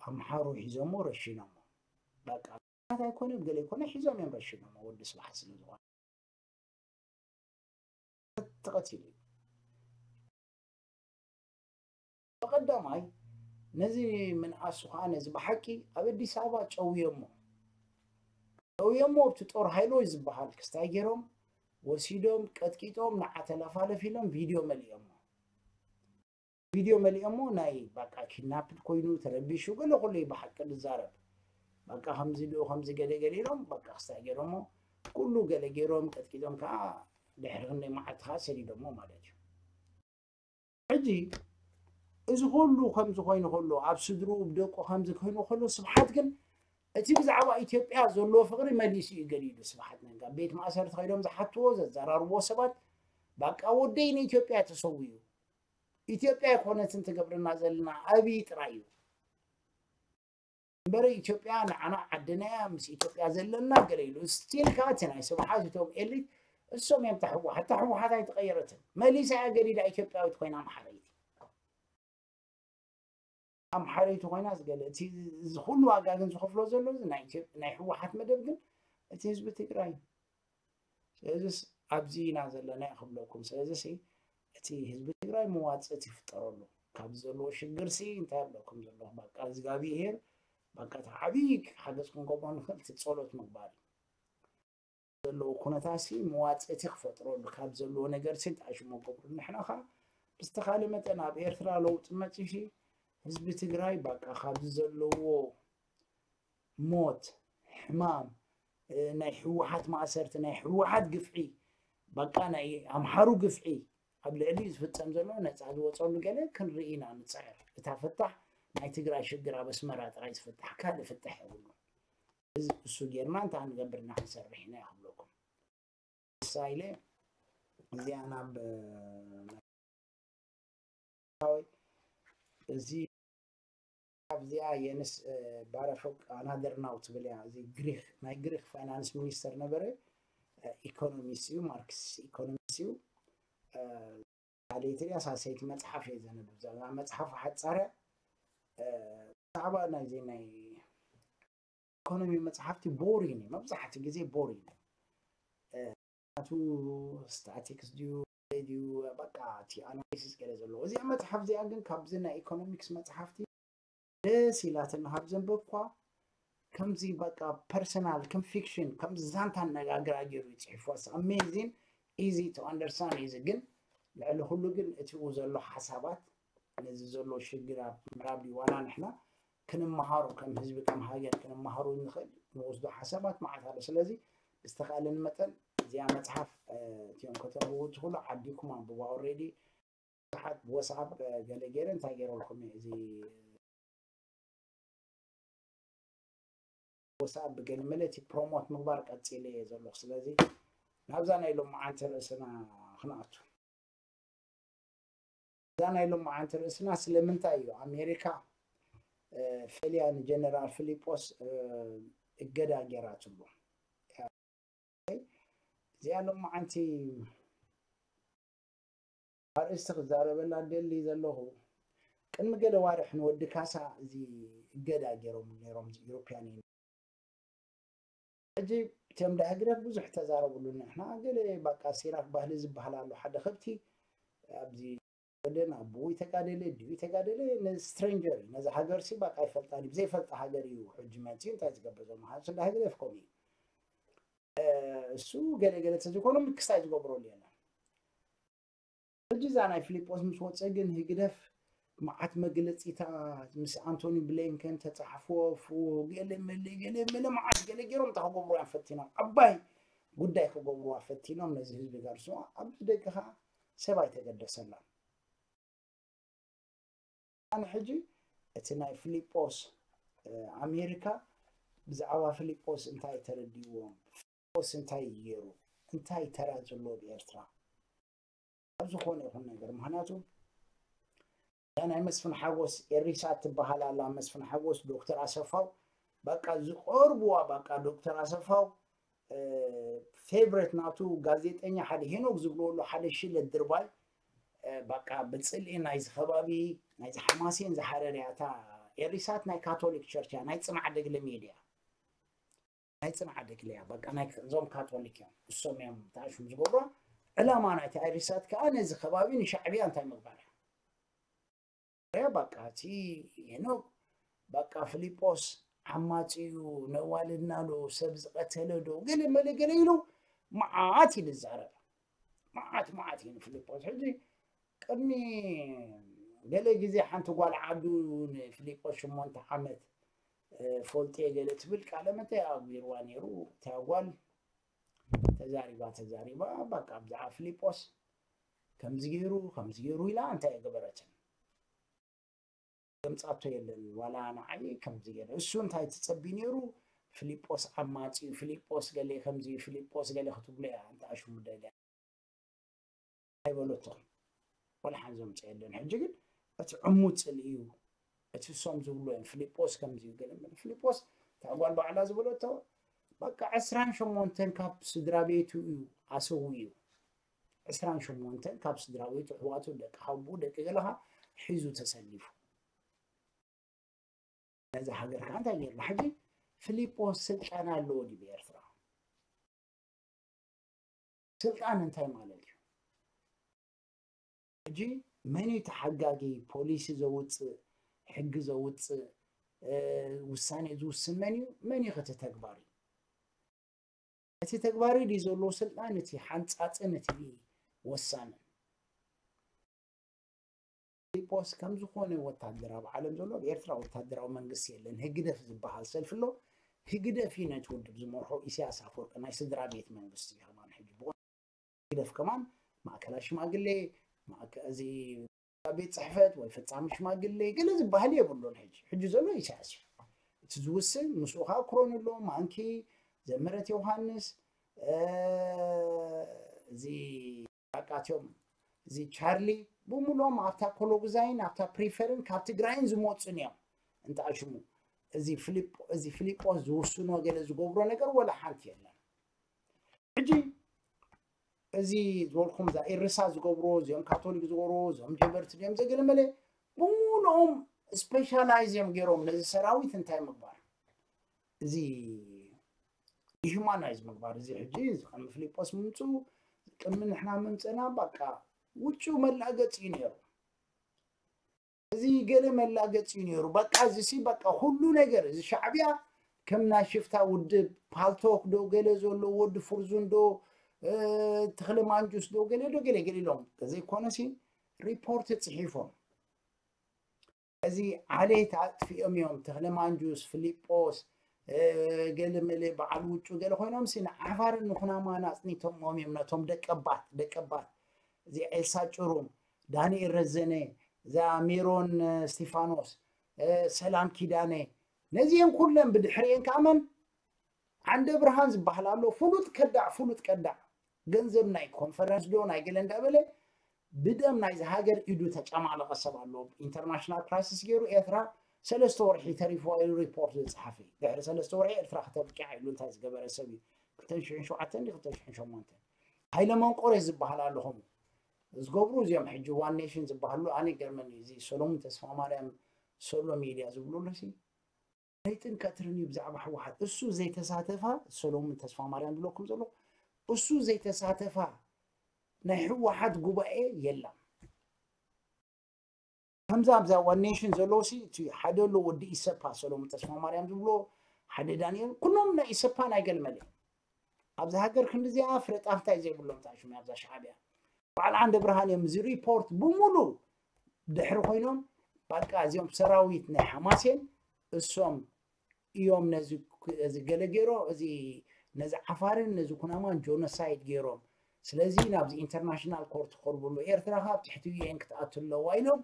ኣምሓሩ ሒዞሞ ረሺኖሞ። በቃ ኣይኮነ ገለ ኣይኮነ ሒዞም እዮም ረሺኖሞ ወዲ ስብሓት ስለ ዝኾነ። ተቐቲሉ እዩ። ብቐዳማይ ነዚ ምንኣሱ ከዓ ነዚ ብሓቂ ኣብ ኣዲስ ኣበባ ጨውዮሞ። ጨውዮሞ ኣብቲ ጦር ሃይሎች ዝበሃል ክስታይ ገይሮም ወሲዶም ቀጥቂጦም ንዓ ተለፋለፍ ኢሎም ቪድዮ መሊኦሞ። ቪድዮ መሊኦሞ ናይ በቃ ኪድናፕድ ኮይኑ ተረቢሹ ገለ ኩሉ እዩ ብሓቂ ዝዛረብ። በቃ ከምዚ ድኡ ከምዚ ገለ ገለ ኢሎም በቃ ክስታይ ገይሮሞ ኩሉ ገለ ገይሮም ቀጥቂጦም ከዓ ድሕሪ ክንደይ መዓልቲ ከዓ ሰዲዶሞ ማለት እዩ። ሕጂ እዚ ኩሉ ከምዚ ኮይኑ ከሎ ኣብ ስድርኡ ብደቁ ከምዚ ኮይኑ ከሎ ስብሓት ግን እቲ ብዛዕባ ኢትዮጵያ ዘለዎ ፍቕሪ መሊሱ እዩ ገሊሉ። ስብሓት ነጋ ቤት ማእሰርቲ ከይዶም ዝሓትዎ ዘዘራርብዎ ሰባት በቃ ወደይ ንኢትዮጵያ ተሰዊኡ ኢትዮጵያ ኣይኮነትን ትገብረና ዘለና ኣብይ ጥራይ እዩ እምበረ ኢትዮጵያ ንዓና ዓድና እያ ምስ ኢትዮጵያ ዘለና ገለ ኢሉ ስቲል ከዓ እቲ ናይ ስብሓት እቶም ኤሊት እሶም እዮም ተሕወሓት ተሕወሓት ኣይተቐየረትን መሊሳ እያ ገዲዳ ኢትዮጵያዊት ኮይና ኣምሓረይቲ ኣምሓረይቲ ኮይና ዝገለ እቲ እዚ ኩሉ ዋጋ ግን ዝኸፍሎ ዘሎ እዚ ናይ ኢትዮ- ናይ ህወሓት መደብ ግን እቲ ህዝቢ ትግራይ እዩ ስለዚስ ኣብዚ ኢና ዘለና ክብለኩም ስለዚስ እቲ ህዝቢ ትግራይ መዋፅእ ይፍጠረሉ ካብ ዘለዎ ሽግር ሲ እንታይ ብለኩም ዘለኹ በቃ እግዚኣብሄር በቃ እቲ ዓብዪ ሓገዝ ክንገብሮ ንኽእል እቲ ፀሎት ምግባር እዩ ዘለዎ ኩነታት ሲ መዋፅእቲ ክፈጥረሉ ካብ ዘለዎ ነገር ሲ ጣሽሞ ገብሩ ንሕና ኸ ብዝተኻለ መጠን ኣብ ኤርትራ ለውጢ መፂ ሲ ህዝቢ ትግራይ በቃ ካብዚ ዘለዎ ሞት ሕማም ናይ ህወሓት ማእሰርቲ ናይ ህወሓት ግፍዒ በቃ ናይ ኣምሓሩ ግፍዒ ኣብ ልዕሊ ዝፍፀም ዘሎ ነፃ ዝወፀሉ ገለ ክንርኢ ኢና ንፅዕር እታ ፍታሕ ናይ ትግራይ ሽግር ኣብ ኣስመራ ጥራይ ዝፍታሕ ካልእ ፍታሕ የብሉ እዚ እሱ ጌርና እንታይ ክንገብር ኢና ክንሰርሕ ኢና ክብለኩም ንሳ ኢለ እዚኣ ናብ እዚ ኣብዚኣ የንስ ባረፎቅ ኣናደርናው ትብል እያ እዚ ግሪክ ናይ ግሪክ ፋይናንስ ሚኒስተር ነበረ ኢኮኖሚስ እዩ ማርክስ ኢኮኖሚስ እዩ ካልእቲ ድያ ሳሰይቲ መፅሓፍ እየ ዘንብብ ዘላ መፅሓፍ ሓፃርያ ብዛዕባ ናይዚ ናይ ኢኮኖሚ መፅሓፍቲ ቦሪን እዩ መብዛሕቲ ግዜ ቦሪን እዩ ናቱ ስታቲክስ ድዩ ድዩ በቃ እቲ ኣናሊሲስ ገለ ዘለዎ እዚኣ መፅሓፍ እዚኣ ግን ካብዚ ናይ ኢኮኖሚክስ መፅሓፍቲ ደስ ኢላትና ካብ ዘንበብኳ ከምዚ በቃ ፐርሰናል ከም ፊክሽን ከምዚ ዛንታ ኣነጋግራ ገይሩ ይፅሒፍዋ ኣሜዚን ኢዚ ቱ ኣንደርስታንድ ኢዚ ግን ልዕሊ ኩሉ ግን እቲኡ ዘሎ ሓሳባት ነዚ ዘሎ ሽግር ኣብ ምዕራብ ዲዋና ንሕና ክንመሃሩ ከም ህዝቢ ከም ሃገር ክንመሃሩ ንኽእል ንወስዶ ሓሳባት መዓት ኣሎ ስለዚ ብዝተኻእለኒ መጠን እዚኣ መፅሓፍ እቲኦም ከተንብቡ ትኽእሉ ዓዲኩም ኣንብባ ኦሬዲ ብዙሓት ብወስኣፕ ገለ ገይረ እንታይ ገይረልኩም እዚ ወሳብ ብገለ መለ እቲ ፕሮሞት ምግባር ቀጺለ እየ ዘለኹ። ስለዚ ናብዛ ናይ ሎማዓንቲ ርእስና ክንኣቱ። እዛ ናይ ሎማዓንቲ ርእስና ስለምንታይ እዩ ኣሜሪካ እ፣ ፈልያ ንጀነራል ፊሊጶስ እ፣ እገዳ ገይራትሉ? እዚኣ ሎማዓንቲ ኣርእስቲ ክዛረበላ ደሊ ዘለኹ፣ ቅድሚ ገለ ዋርሕ ንወዲ ካሳ እዚ እገዳ ገይሮም ነይሮም፣ እዚ ኢሮፕያን ዩኒየን። ሕጂ እቶም ዳ ህግደፍ ብዙሕ ተዛረብሉ። ንሕና ገለ ባቃ ሲራክ ባህሊ ዝበሃል ኣሎ፣ ሓደ ከብቲ ኣብዚ ወደን ኣቦኡ ይተጋደለ፣ ድዩ ይተጋደለ፣ ነዚ ስትሬንጀር እዩ፣ ነዚ ሃገር ሲ ባቃ ኣይፈልጣን እዩ፣ ብዘይፈልጣ ሃገር እዩ። ሕጂ መፂኡ እንታይ ዝገብር ዘሎ? ሓንሱ ዳ ህግደፍ ከምኡ እዩ። እ፣ እሱ ገለ ገለ ተዝኮኑ ምክስታይ ዝገብረሉ የለን። ሕጂ እዛ ናይ ፊሊጶስ ምስ ወፀ ግን ህግደፍ መዓት መግለፂታት ምስ ኣንቶኒ ብሊንከን ተፃሕፎ፣ ፉ፣ ገለ መለ፣ ገለ መለ፣ መዓት ገለ ገይሮም እንታይ ክገብሩዋ ፈቲኖም፣ ዓባይ ጉዳይ ክገብሩዋ ፈቲኖም ነዚ ህዝቢ ጋር። ሶ ኣብዚ ደቂ ከዓ ሰብ ኣይተገደሰላን። ኣነ ሕጂ እቲ ናይ ፊሊጶስ እ፣ ኣሜሪካ ብዛዕባ ፊሊጶስ እንታይ ተረዲእዎም? ፊሊጶስ እንታይ ገይሩ? እንታይ ተራ ዘለዎ ብኤርትራ? ኣብ ዝኾነ ይኹን ነገር፣ ምኽንያቱ እዛ ናይ መስፍን ሓጎስ ኤሪሳ ትበሃል ኣላ፣ መስፍን ሓጎስ፣ ዶክተር ኣሰፋው፣ በቃ ዝቐርብዋ፣ በቃ ዶክተር ኣሰፋው እ፣ ፌቨሬት ናቱ ጋዜጠኛ ሓደ ሄኖክ ዝብልዎ ኣሎ፣ ሓደ ሽለት ድርባይ እ፣ በቃ ብፅልኢ ናይዚ ከባቢ፣ ናይዚ ሓማሴን ዝሓረር እያ። እታ ኤሪሳት ናይ ካቶሊክ ቸርች እያ፣ ናይ ፅንዓ ደግለ ሚድያ፣ ናይ ፅንዓ ደግለ እያ። በቃ ናይ እዞም ካቶሊክ እዮም፣ እሶም እዮም ተኣሽም ዝገብሮ። ዕላማ ናይቲ ኤሪሳት ከዓ ነዚ ከባቢ ንሻዕብያ እንታይ ምግባር እያ። ያ በቃ እቲ ሄኖክ በቃ ፊሊጶስ ዓማጺ እዩ፣ ነዋልድና ዶ፣ ሰብ ዝቐተለ ዶ፣ ገለ መለ ገለ ኢሉ መዓት እዩ ዝዛረብ። መዓት መዓት እዩ ንፊሊጶስ። ሕጂ ቅድሚ ገለ ግዜ ሓንቲ ጓል ዓዱ ንፊሊጶስ ሸሞንተ ዓመት እ፣ ፈልጥየ ገለ ትብል ቃለ መተ ኣግቢርዋ ነይሩ። እታ ጓል ተዛሪባ ተዛሪባ በቃ ብዛዕባ ፊሊጶስ ከምዚ ገይሩ ከምዚ ገይሩ ኢላ እንታይ ኣይገበረትን። ዘምጻቶ የለን ዋላ ንዓይ ከምዚ ገይረ። እሱ እንታይ ትጸቢ ነይሩ? ፊሊጶስ ዓማጺ እዩ፣ ፊሊጶስ ገለ ከምዚ እዩ፣ ፊሊጶስ ገለ ክትብሎ እያ። እንተ ኣሽሙ ደልያ ኣይበለቶን። ዋላ ሓንቲ ዘምጻ የለን። ሕጂ ግን እቲ ዕሙት ጽልኢ እዩ። እቲ እሶም ዝብሎ እዮም። ፊሊጶስ ከምዚ እዩ ገለ መለ። ፊሊጶስ እታ ጓል ባዕላ ዝበለቶ በቃ ዕስራን ሸሞንተን ካብ ስድራ ቤቱ እዩ ኣሰዊኡ። ዕስራን ሸሞንተን ካብ ስድራ ቤቱ፣ ኣሕዋቱ፣ ደቂ ሓውቦኡ፣ ደቂ ገለኻ ሒዙ ተሰሊፉ። ነዛ ሃገር ከዓ እንታይ ገይርና? ሕጂ ፊሊጶስ ስልጣን ኣለዎ ድዩ ብኤርትራ? ስልጣን እንታይ ማለት እዩ? ሕጂ መን እዩ ተሓጋጊ? ፖሊሲ ዘውፅእ፣ ሕጊ ዘውፅእ፣ እ፣ ውሳኔ ዝውስን መን እዩ? መን እዩ እቲ ተግባሪ? እቲ ተግባሪ ድዩ ዘለዎ ስልጣን፣ እቲ ሓንጻጽን እቲ ወሳንን? ፊሊጶስ ከም ዝኾነ ወታደር ኣብ ዓለም ዘሎ፣ ኣብ ኤርትራ ወታደራዊ መንግስቲ የለን። ህግደፍ ዝበሃል ሰልፊ ኣሎ። ህግደፍ እዩ ነቲ ውድብ ዝመርሖ። ኢሳያስ ኣፈወርቂ ናይ ስድራ ቤት መንግስቲ እዩ ከማን። ሕጂ ብቑ-፣ ህግደፍ ከማን ማእከላይ ሽማግሌ፣ ማእከ-፣ እዚ ቤት ጽሕፈት ወይ ፈጻሚ ሽማግሌ ገለ ዝበሃል የብሉን። ሕጂ፣ ሕጂ ዘሎ ኢሳያስ እዩ። እቲ ዝውስን ምስኡ ከዓ ክሮን ኣሎ፣ ማንኪ፣ ዘመረት ዮሃንስ፣ እ፣ እዚ በቃ እቲኦም፣ እዚ ቻርሊ፣ ብምሉኦም ኣብታ ኮሎጉዛይን ኣብታ ፕሪፈርን ካብ ትግራይን ዝመፁን እዮም። እንተ ኣሽሙ እዚ ፊሊጶ-፣ እዚ ፊሊጶስ ዝውስኖ ገለ ዝገብሮ ነገር ወላ ሓንቲ የለን። ሕጂ እዚ ዝበልኩም እዛ ኤርሳ ዝገብሮ፣ እዚኦም ካቶሊክ ዝገብሮ፣ እዞም ጀበርቲ ድዮም ዘገለመለ፣ ብምሉኦም ስፔሻላይዝ እዮም ገይሮም ነዚ ሰራዊት እንታይ ምግባር፣ እዚ ዲሁማናይዝ ምግባር። እዚ ሕጂ እዚ ከም ፊሊጶስ ምምፅኡ፣ ቅድሚ ንሕና ምምፅእና በቃ ውጩ መላገፂ እዩ ነይሩ። እዚ ገለ መላገፂ እዩ ነይሩ። በቃ እዚ ሲ በቃ ኩሉ ነገር እዚ ሻዕብያ ከም ናይ ሽፍታ ውድብ ፓልቶክ ዶ ገለ ዘሎ ወዲ ፍርዙን ዶ፣ እ፣ ተኽለ ማንጁስ ዶ ገለ ዶ ገለ ገለ ኢሎም ዘይኮነ ሲ ሪፖርት ፅሒፎም እዚ ዓሌት ኣጥፊኦም እዮም። ተኽለ ማንጁስ፣ ፊሊጶስ፣ እ፣ ገለ መለ በዓል ውጩ ገለ ኮይኖም ሲ ንዓፋርን ንኩናማን ኣፅኒቶምዎም እዮም። ነቶም ደቀባት፣ ደቀባት፣ እዚ ኤልሳ ጭሩም፣ ዳንኤል ረዘነ፣ እዛ ሜሮን፣ እ፣ እስቲፋኖስ፣ እ፣ ሰላም ኪዳነ፣ ነዚኦም ኩለን ብድሕሪኤን ከዓ መን ዓንደ ብርሃን ዝበሃል ኣሎ፣ ፍሉጥ ከዳዕ፣ ፍሉጥ ከዳዕ፣ ገንዘብ ናይ ኮንፈረንስ ዶ ናይ ገለ እንዳበለ ብደም ናይዚ ሃገር ኢዱ ተጨማለቐ ሰብ ኣሎ። ኢንተርናሽናል ክራይሲስ ገይሩ ኤርትራ ሰለስተ ወርሒ ተሪፍዋ ኢሉ ሪፖርት ዝጸሓፈ እዩ። ድሕሪ ሰለስተ ወርሒ ኤርትራ ከተብቅዕ ኢሉ እንታይ ዝገበረ ሰብ እዩ? ክልተ ሽሕን ሸውዓተን ድዩ ክልተ ሽሕን ሸሞንተን? ሃይለ መንቆሬ ዝበሃል ኣሎ ከምኡ ዝገብሩ እዚኦም ሕጂ ዋን ኔሽን ዝበሃሉ። ኣነ ይገርመኒ እዚ ሰሎሙን ተስፋማርያም ሶሎ ሚድያ ዝብሉ ኣለሲ ለይትን ቀትርን እዩ ብዛዕባ ህወሓት። እሱ ዘይተሳተፋ፣ ሰሎሙን ተስፋማርያም ዝብለኩም ዘሎ፣ እሱ ዘይተሳተፋ ናይ ህወሓት ጉባኤ የላም። ከምዛ ኣብዛ ዋን ኔሽን ዘለውሲ እቲ ሓደ ኣሎ ወዲ ኢሰፓ፣ ሰሎሙን ተስፋማርያም ዝብሎ፣ ሓደ ዳንኤል፣ ኩሎም ናይ ኢሰፓ ናይ ገልመለ ኣብዚ ሃገር ክንዲዚኣ ፍረ ጣፍ እንታይ ዘይብሎም ታሽሙ ኣብዛ ሻዕብያ። በዓል ዓንደ ብርሃን እዮም እዚ ሪፖርት ብሙሉ ድሕሪ ኮይኖም፣ በቃ እዚኦም ሰራዊት ናይ ሓማሴን እሶም እዮም ነዚ፣ እዚ ገለ ገይሮ፣ እዚ ነዚ ዓፋርን ነዚ ኩናማን ጆኖሳይድ ገይሮም። ስለዚ ናብዚ ኢንተርናሽናል ኮርት ክቐርብሉ፣ ኤርትራ ካብ ትሕቲ ዩ ኤን ክትኣቱ ኣለዋ ኢሎም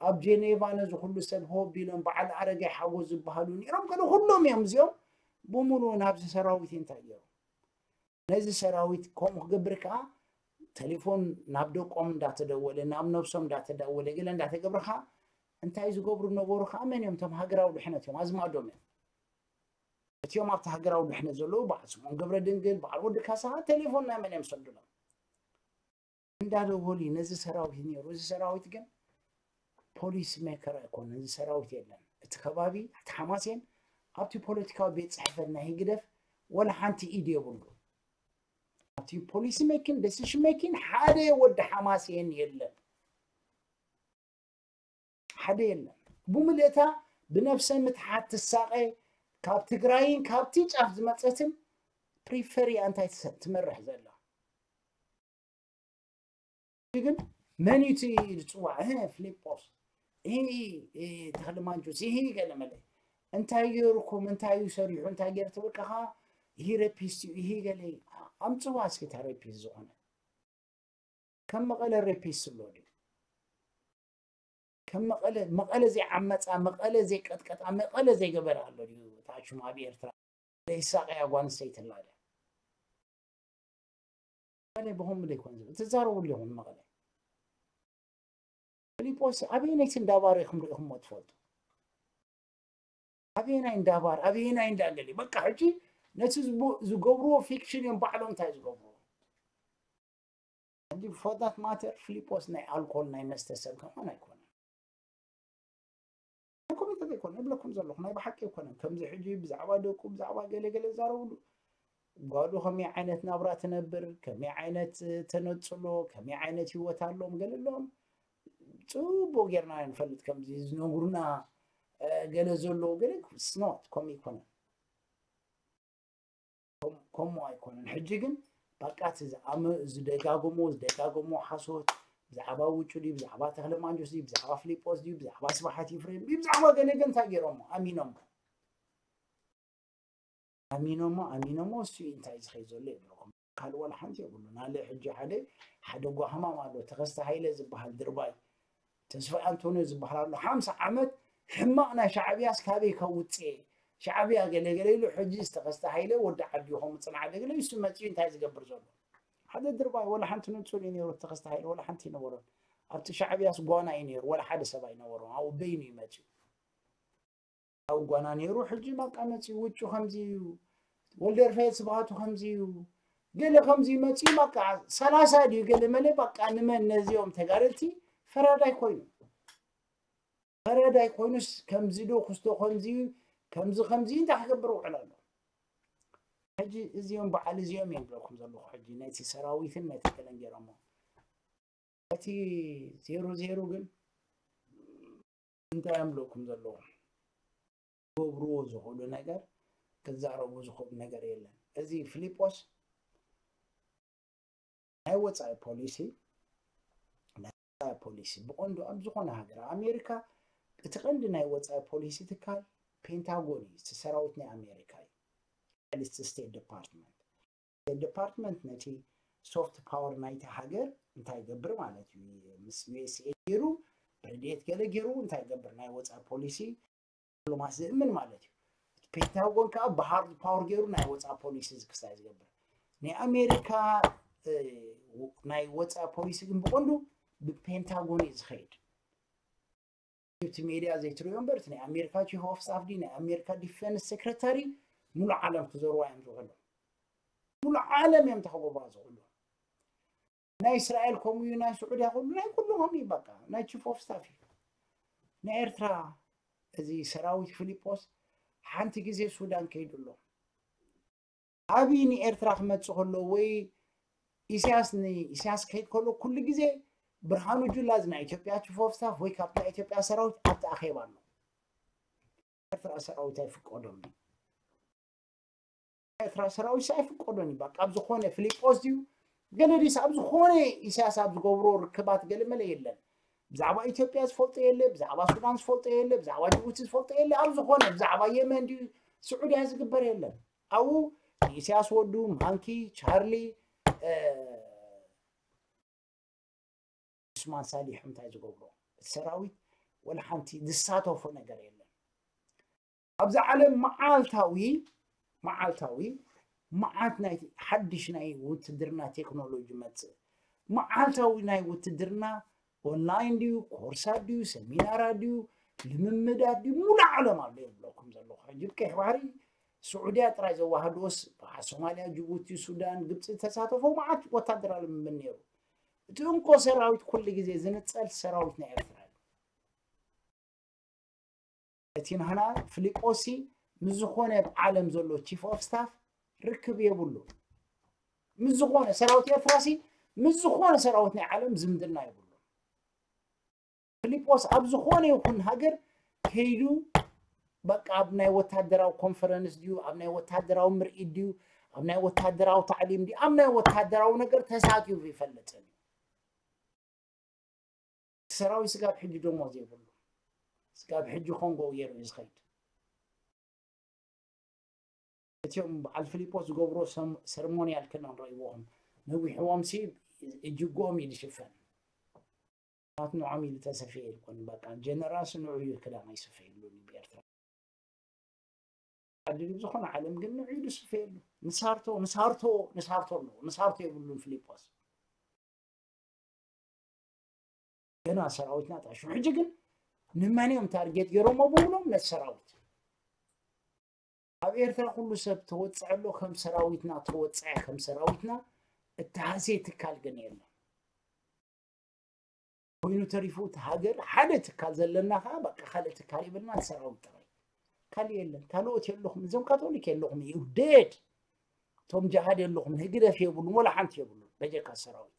ኣብ ጄኔቫ ነዚ ኩሉ ሰብ ሆብ ኢሎም በዓል ኣረጋይ ሓጎስ ዝበሃሉ ነይሮም። ገለ ኩሎም እዮም እዚኦም ብሙሉ ናብዚ ሰራዊት እንታይ ገይሮም? ነዚ ሰራዊት ከምኡ ክገብር ከኣ ተሌፎን ናብ ደቆም እንዳተደወለ፣ ናብ ነብሶም እንዳተደወለ፣ ገለ እንዳተገብረ ከኣ እንታይ ዝገብሩ ነበሩ ከኣ መን እዮም? እቶም ሃገራዊ ድሕነት እዮም፣ ኣዝማዶም እዮም። እቲኦም ኣብቲ ሃገራዊ ድሕነት ዘለዉ በዓል ስምኦን ገብረ ድንግል፣ በዓል ወዲ ካሳ ከኣ ተሌፎን ናይ መን እዮም ዝሰዱሎም? እንዳደወሉ እዩ ነዚ ሰራዊት ነይሩ። እዚ ሰራዊት ግን ፖሊሲ ሜከር ኣይኮነን። እዚ ሰራዊት የለን። እቲ ከባቢ፣ እቲ ሓማሴን ኣብቲ ፖለቲካዊ ቤት ጽሕፈት ናይ ህግደፍ ወላ ሓንቲ ኢድ የብሉ። ኣብቲ ፖሊሲ ሜኪን፣ ዴሲሽን ሜኪን ሓደ ወዲ ሓማሴን የለን። ሓደ የለን። ብምልእታ ብነብሰ ምትሓት ትሳቐ፣ ካብ ትግራይን ካብቲ ጫፍ ዝመጸትን ፕሪፈር እያ እንታይ ትሰ-፣ ትመርሕ ዘላ። ግን መን እዩ እቲ ዝፅዋዕ? እ፣ ፊሊጶስ፣ እ፣ እ፣ ተኽለ ማንጁስ፣ ይሄ ገለ መለ። እንታይ ገይሩኩም? እንታይ እዩ ሰሪሑ? እንታይ ገይሩ ትብል ከኻ? ይሄ ሬፒስት እዩ፣ ይሄ ገለ። ኣምፅዋ እስኪ እታ ሬፒስት ዝኾነ። ከም መቐለ ሬፒስት ኣሎ ድዩ? ከም መቐለ፣ መቐለ ዘይዓመፃ፣ መቐለ ዘይቀጥቀጣ፣ መቐለ ዘይገበረ ኣሎ ድዩ? እታ ሽማ ኣብ ኤርትራ ዘይሳቐያ ጓል ኣንስተይቲ ኣላ ድያ? መቐለ ብኸምኡ ዘይኮነ ዝብል ትዛረቡ ኣለኹም። መቐለ ፊሊጶስ ኣበየነይቲ እንዳባር ኢኹም ርኢኹምዎ ትፈልጡ? ኣበየናይ እንዳባር፣ ኣበየናይ እንዳገሊ? በቃ ሕጂ ነቲ ዝቡ-፣ ዝገብርዎ ፊክሽን እዮም ባዕሎም እንታይ ዝገብርዎ። ሕጂ for that matter ፊሊጶስ ናይ ኣልኮል ናይ መስተ ሰብ ከማን ኣይኮነን። ኮሜንታት ኣይኮነ እብለኩም ዘለኹ ናይ ብሓቂ ኣይኮነን። ከምዚ ሕጂ ብዛዕባ ደቁ ብዛዕባ ገለ ገለ ዛረብሉ ጓሉ ከመይ ዓይነት ናብራ ትነብር፣ ከመይ ዓይነት ተነጽሎ፣ ከመይ ዓይነት ህይወት ኣለዎም ገለ ኣለዎም ጽቡቕ ጌርና ንፈልጥ። ከምዚ ዝነግሩና፣ እ፣ ገለ ዘለዉ ገለ ስኖት ከምኡ ኣይኮነን። ከም-፣ ከምኡ ኣይኮነን። ሕጂ ግን በቃ እቲ ዝኣመ-፣ ዝደጋግሞ፣ ዝደጋግሞ ሓሶት ብዛዕባ ውጩ ድዩ፣ ብዛዕባ ተኽለ ማንጆስ ድዩ፣ ብዛዕባ ፊሊጶስ ድዩ፣ ብዛዕባ ስብሓት ይፍሬም ድዩ፣ ብዛዕባ ገለ ገለ እንታይ ገይሮሞ? ኣሚኖሞ። ኣሚኖሞ፣ ኣሚኖሞ እሱ እዩ እንታይ ዝኸይ ዘሎ ይብለኩም። ካልእ ዋላ ሓንቲ የብሉን። ኣለ ሕጂ ሓደ፣ ሓደ ጓህማም ኣሎ፣ ተኸስተ ሃይለ ዝበሃል ድርባይ። ተስፋ ኣንቶንዮ ዝበሃል ኣሎ። ሓምሳ ዓመት ሕማቕ ናይ ሻዕብያስ ካበይ ከውጽእ? ሻዕብያ ገለ ገለ ኢሉ፣ ሕጂ ዝተኸስተ ሃይለ ወዲ ዓዲ ይኸውን፣ ጽንዓት ገለ ኢሱ መጺኡ እንታይ ዝገብር ዘሎ? ሓደ ድርባይ፣ ወላ ሓንቲ ንጹር እዩ ነይሩ፣ ተኸስተ ሃይለ ወላ ሓንቲ ኣይነበሮን። ኣብቲ ሻዕብያስ ጓና እዩ ነይሩ፣ ወላ ሓደ ሰብ ኣይነበሮን። ኣብኡ በይኑ እዩ መጺኡ። ኣብ ጓና ነይሩ፣ ሕጂ በቃ መጺኡ ውጩ ከምዚ እዩ፣ ወልደርፈየት ስብሃቱ ከምዚ እዩ፣ ገለ ከምዚ መጺኡ በቃ ሰላሳ ድዩ ገለ መለ በቃ ንመን ነዚኦም ተጋደልቲ ፈራዳይ ኮይኑ፣ ፈራዳይ ኮይኑስ ከምዚ ዶ ክስቶ ከምዚ እዩ፣ ከምዚ ከምዚ እንታይ ክገብር ውዕል ኣሎ? ሕጂ እዚኦም በዓል እዚኦም እዮም ዝብለኩም ዘለኹ። ሕጂ ነቲ ሰራዊትን ነቲ ገለን ገይሮሞ እቲ ዜሮ ዜሮ ግን እንታይ እዮም ዝብለኩም ዘለዉ? ክገብርዎ ዝኽእሉ ነገር፣ ክዛረቡ ዝኽእሉ ነገር የለን። እዚ ፊሊጶስ ናይ ወጻኢ ፖሊሲ፣ ናይ ወጻኢ ፖሊሲ ብቐንዱ ኣብ ዝኾነ ሃገር፣ ኣብ ኣሜሪካ እቲ ቀንዲ ናይ ወጻኢ ፖሊሲ ትካል ፔንታጎን እዩ፣ እቲ ሰራዊት ናይ ኣሜሪካ እዩ። ስቴት ዲፓርትመንት። ስቴት ዲፓርትመንት ነቲ ሶፍት ፓወር ናይቲ ሃገር እንታይ ይገብር ማለት እዩ? ምስ ዩ ኤስ ኤ ገይሩ፣ ረድኤት ገለ ገይሩ እንታይ ይገብር? ናይ ወጻኢ ፖሊሲ ዲፕሎማሲ ዝእምን ማለት እዩ። እቲ ፔንታጎን ከዓ ብሃርድ ፓወር ገይሩ ናይ ወፃኢ ፖሊሲ ክስታይ ዝገብር። ናይ ኣሜሪካ ናይ ወፃኢ ፖሊሲ ግን ብቐንዱ ብፔንታጎን እዩ ዝኸይድ። እቲ ሜድያ ዘይትሪኦ እምበር እቲ ናይ ኣሜሪካ ቺፍ ኦፍ ስታፍ ዲ ናይ ኣሜሪካ ዲፌንስ ሴክረታሪ ሙሉእ ዓለም ክዘርዋ እዮም ዝውዕሉ። ሙሉእ ዓለም እዮም ተኸጎባ ዝውዕሉ። ናይ እስራኤል ከምኡ እዩ፣ ናይ ስዑድያ ኩሉ ናይ ኩሉ ከምኡ እዩ። በቃ ናይ ቺፍ ኦፍ ስታፍ እዩ። ናይ ኤርትራ እዚ ሰራዊት ፊሊጶስ ሓንቲ ግዜ ሱዳን ከይዱ ኣሎ። ኣብይ ንኤርትራ ክመጽእ ከሎ ወይ ኢሳያስ ንኢሳያስ ከይድ ከሎ ኩሉ ግዜ ብርሃኑ ጁላ እዚ ናይ ኢትዮጵያ ቺፍ ኦፍ ስታፍ ወይ ካብቲ ናይ ኢትዮጵያ ሰራዊት ኣብቲ ኣኼባ ኣሎ። ኤርትራ ሰራዊት ኣይፍቀዶም እዩ። ኤርትራ ሰራዊት ኣይፍቀዶን እዩ። በቃ ኣብ ዝኾነ ፊሊጶስ ድዩ ገለ ድዩስ ኣብ ዝኾነ ኢሳያስ ኣብ ዝገብሮ ርክባት ገለ መለ የለን። ብዛዕባ ኢትዮጵያ ዝፈልጦ የለ፣ ብዛዕባ ሱዳን ዝፈልጦ የለ፣ ብዛዕባ ጅቡቲ ዝፈልጦ የለ። ኣብ ዝኾነ ብዛዕባ የመን ድዩ ስዑድያ ዝግበር የለን። ኣብኡ ንኢሳያስ ወዱ ማንኪ ቻርሊ ዑስማን ሳሊሕ እንታይ ዝገብሮ እቲ ሰራዊት ወላ ሓንቲ ዝሳተፎ ነገር የለን። ኣብዚ ዓለም መዓልታዊ መዓልታዊ መዓት ናይ ሓድሽ ናይ ውትድርና ቴክኖሎጂ መፅእ። መዓልታዊ ናይ ውትድርና ኦንላይን ድዩ፣ ኮርሳት ድዩ፣ ሰሚናራት ድዩ፣ ልምምዳት ድዩ፣ ሙሉእ ዓለም ኣሎ የብለኩም ዘለኹ። ሕጂ ብቀይሕ ባሕሪ ስዑድያ ጥራይ ዘዋህድዎስ ብዓ ሶማልያ፣ ጅቡቲ፣ ሱዳን፣ ግብፂ ዝተሳተፎ መዓት ወታደራዊ ልምምድ ነይሩ። እቲ እንኮ ሰራዊት ኩሉ ግዜ ዝንፀል ሰራዊት ናይ ኤርትራ እዩ። እቲ ናህና ፊሊጶሲ ምስ ዝኾነ ኣብ ዓለም ዘሎ ቺፍ ኦፍ ስታፍ ርክብ የብሉ። ምስ ዝኾነ ሰራዊት ኤርትራሲ ምስ ዝኾነ ሰራዊት ናይ ዓለም ዝምድና የብሉ። ፊሊጶስ ኣብ ዝኾነ ይኹን ሃገር ከይዱ በቃ ኣብ ናይ ወታደራዊ ኮንፈረንስ ድዩ፣ ኣብ ናይ ወታደራዊ ምርኢት ድዩ፣ ኣብ ናይ ወታደራዊ ታዕሊም ድዩ፣ ኣብ ናይ ወታደራዊ ነገር ተሳቲፉ ይፈልጥን እዩ። ሰራዊት ስጋብ ሕጂ ደሞዝ የብሉ። ስጋብ ሕጂ ኮንጎ ገይሩ እዩ ዝኸይድ። እቲኦም በዓል ፊሊጶስ ዝገብሮ ሰም-፣ ሰርሞንያል ክዳን ረኢዎም ነዊሕዎም ሲ እጅጎም እዩ ዝሽፈን። ናት ንዖም ኢሉ ተሰፍየ ይኮን በቃ ጀነራል ንዑ እዩ ክዳን ኣይስፈየሉን እዩ ብኤርትራ። ዓዲ ዝኾነ ዓለም ግን ንዑ ኢሉ ዝስፈየሉ ንሳርቶ ንሳርቶ ንሳርቶ ኣለዎ ንሳርቶ የብሉን ፊሊጶስ። ገና ሰራዊትና ጣሹ ሕጂ ግን ንመን እዮም ታርጌት ገይሮሞ ብብሎም ነቲ ሰራዊት ኣብ ኤርትራ ኩሉ ሰብ ተወፅዐ ኣሎ ከም ሰራዊትና ተወፅዐ ከም ሰራዊትና እተሃስየ ትካል ግን የለን። ኮይኑ ተሪፉ እቲ ሃገር ሓደ ትካል ዘለና ከዓ በቃ ካልእ ትካል የብልና ሰራዊት ጥራይ ካልእ የለን ካልኦት የለኹም እዞም ካቶሊክ የለኹም እዩ ዴድ እቶም ጃሃድ የለኹም ህግደፍ የብሉን ወላ ሓንቲ የብሉን በጀካ ሰራዊት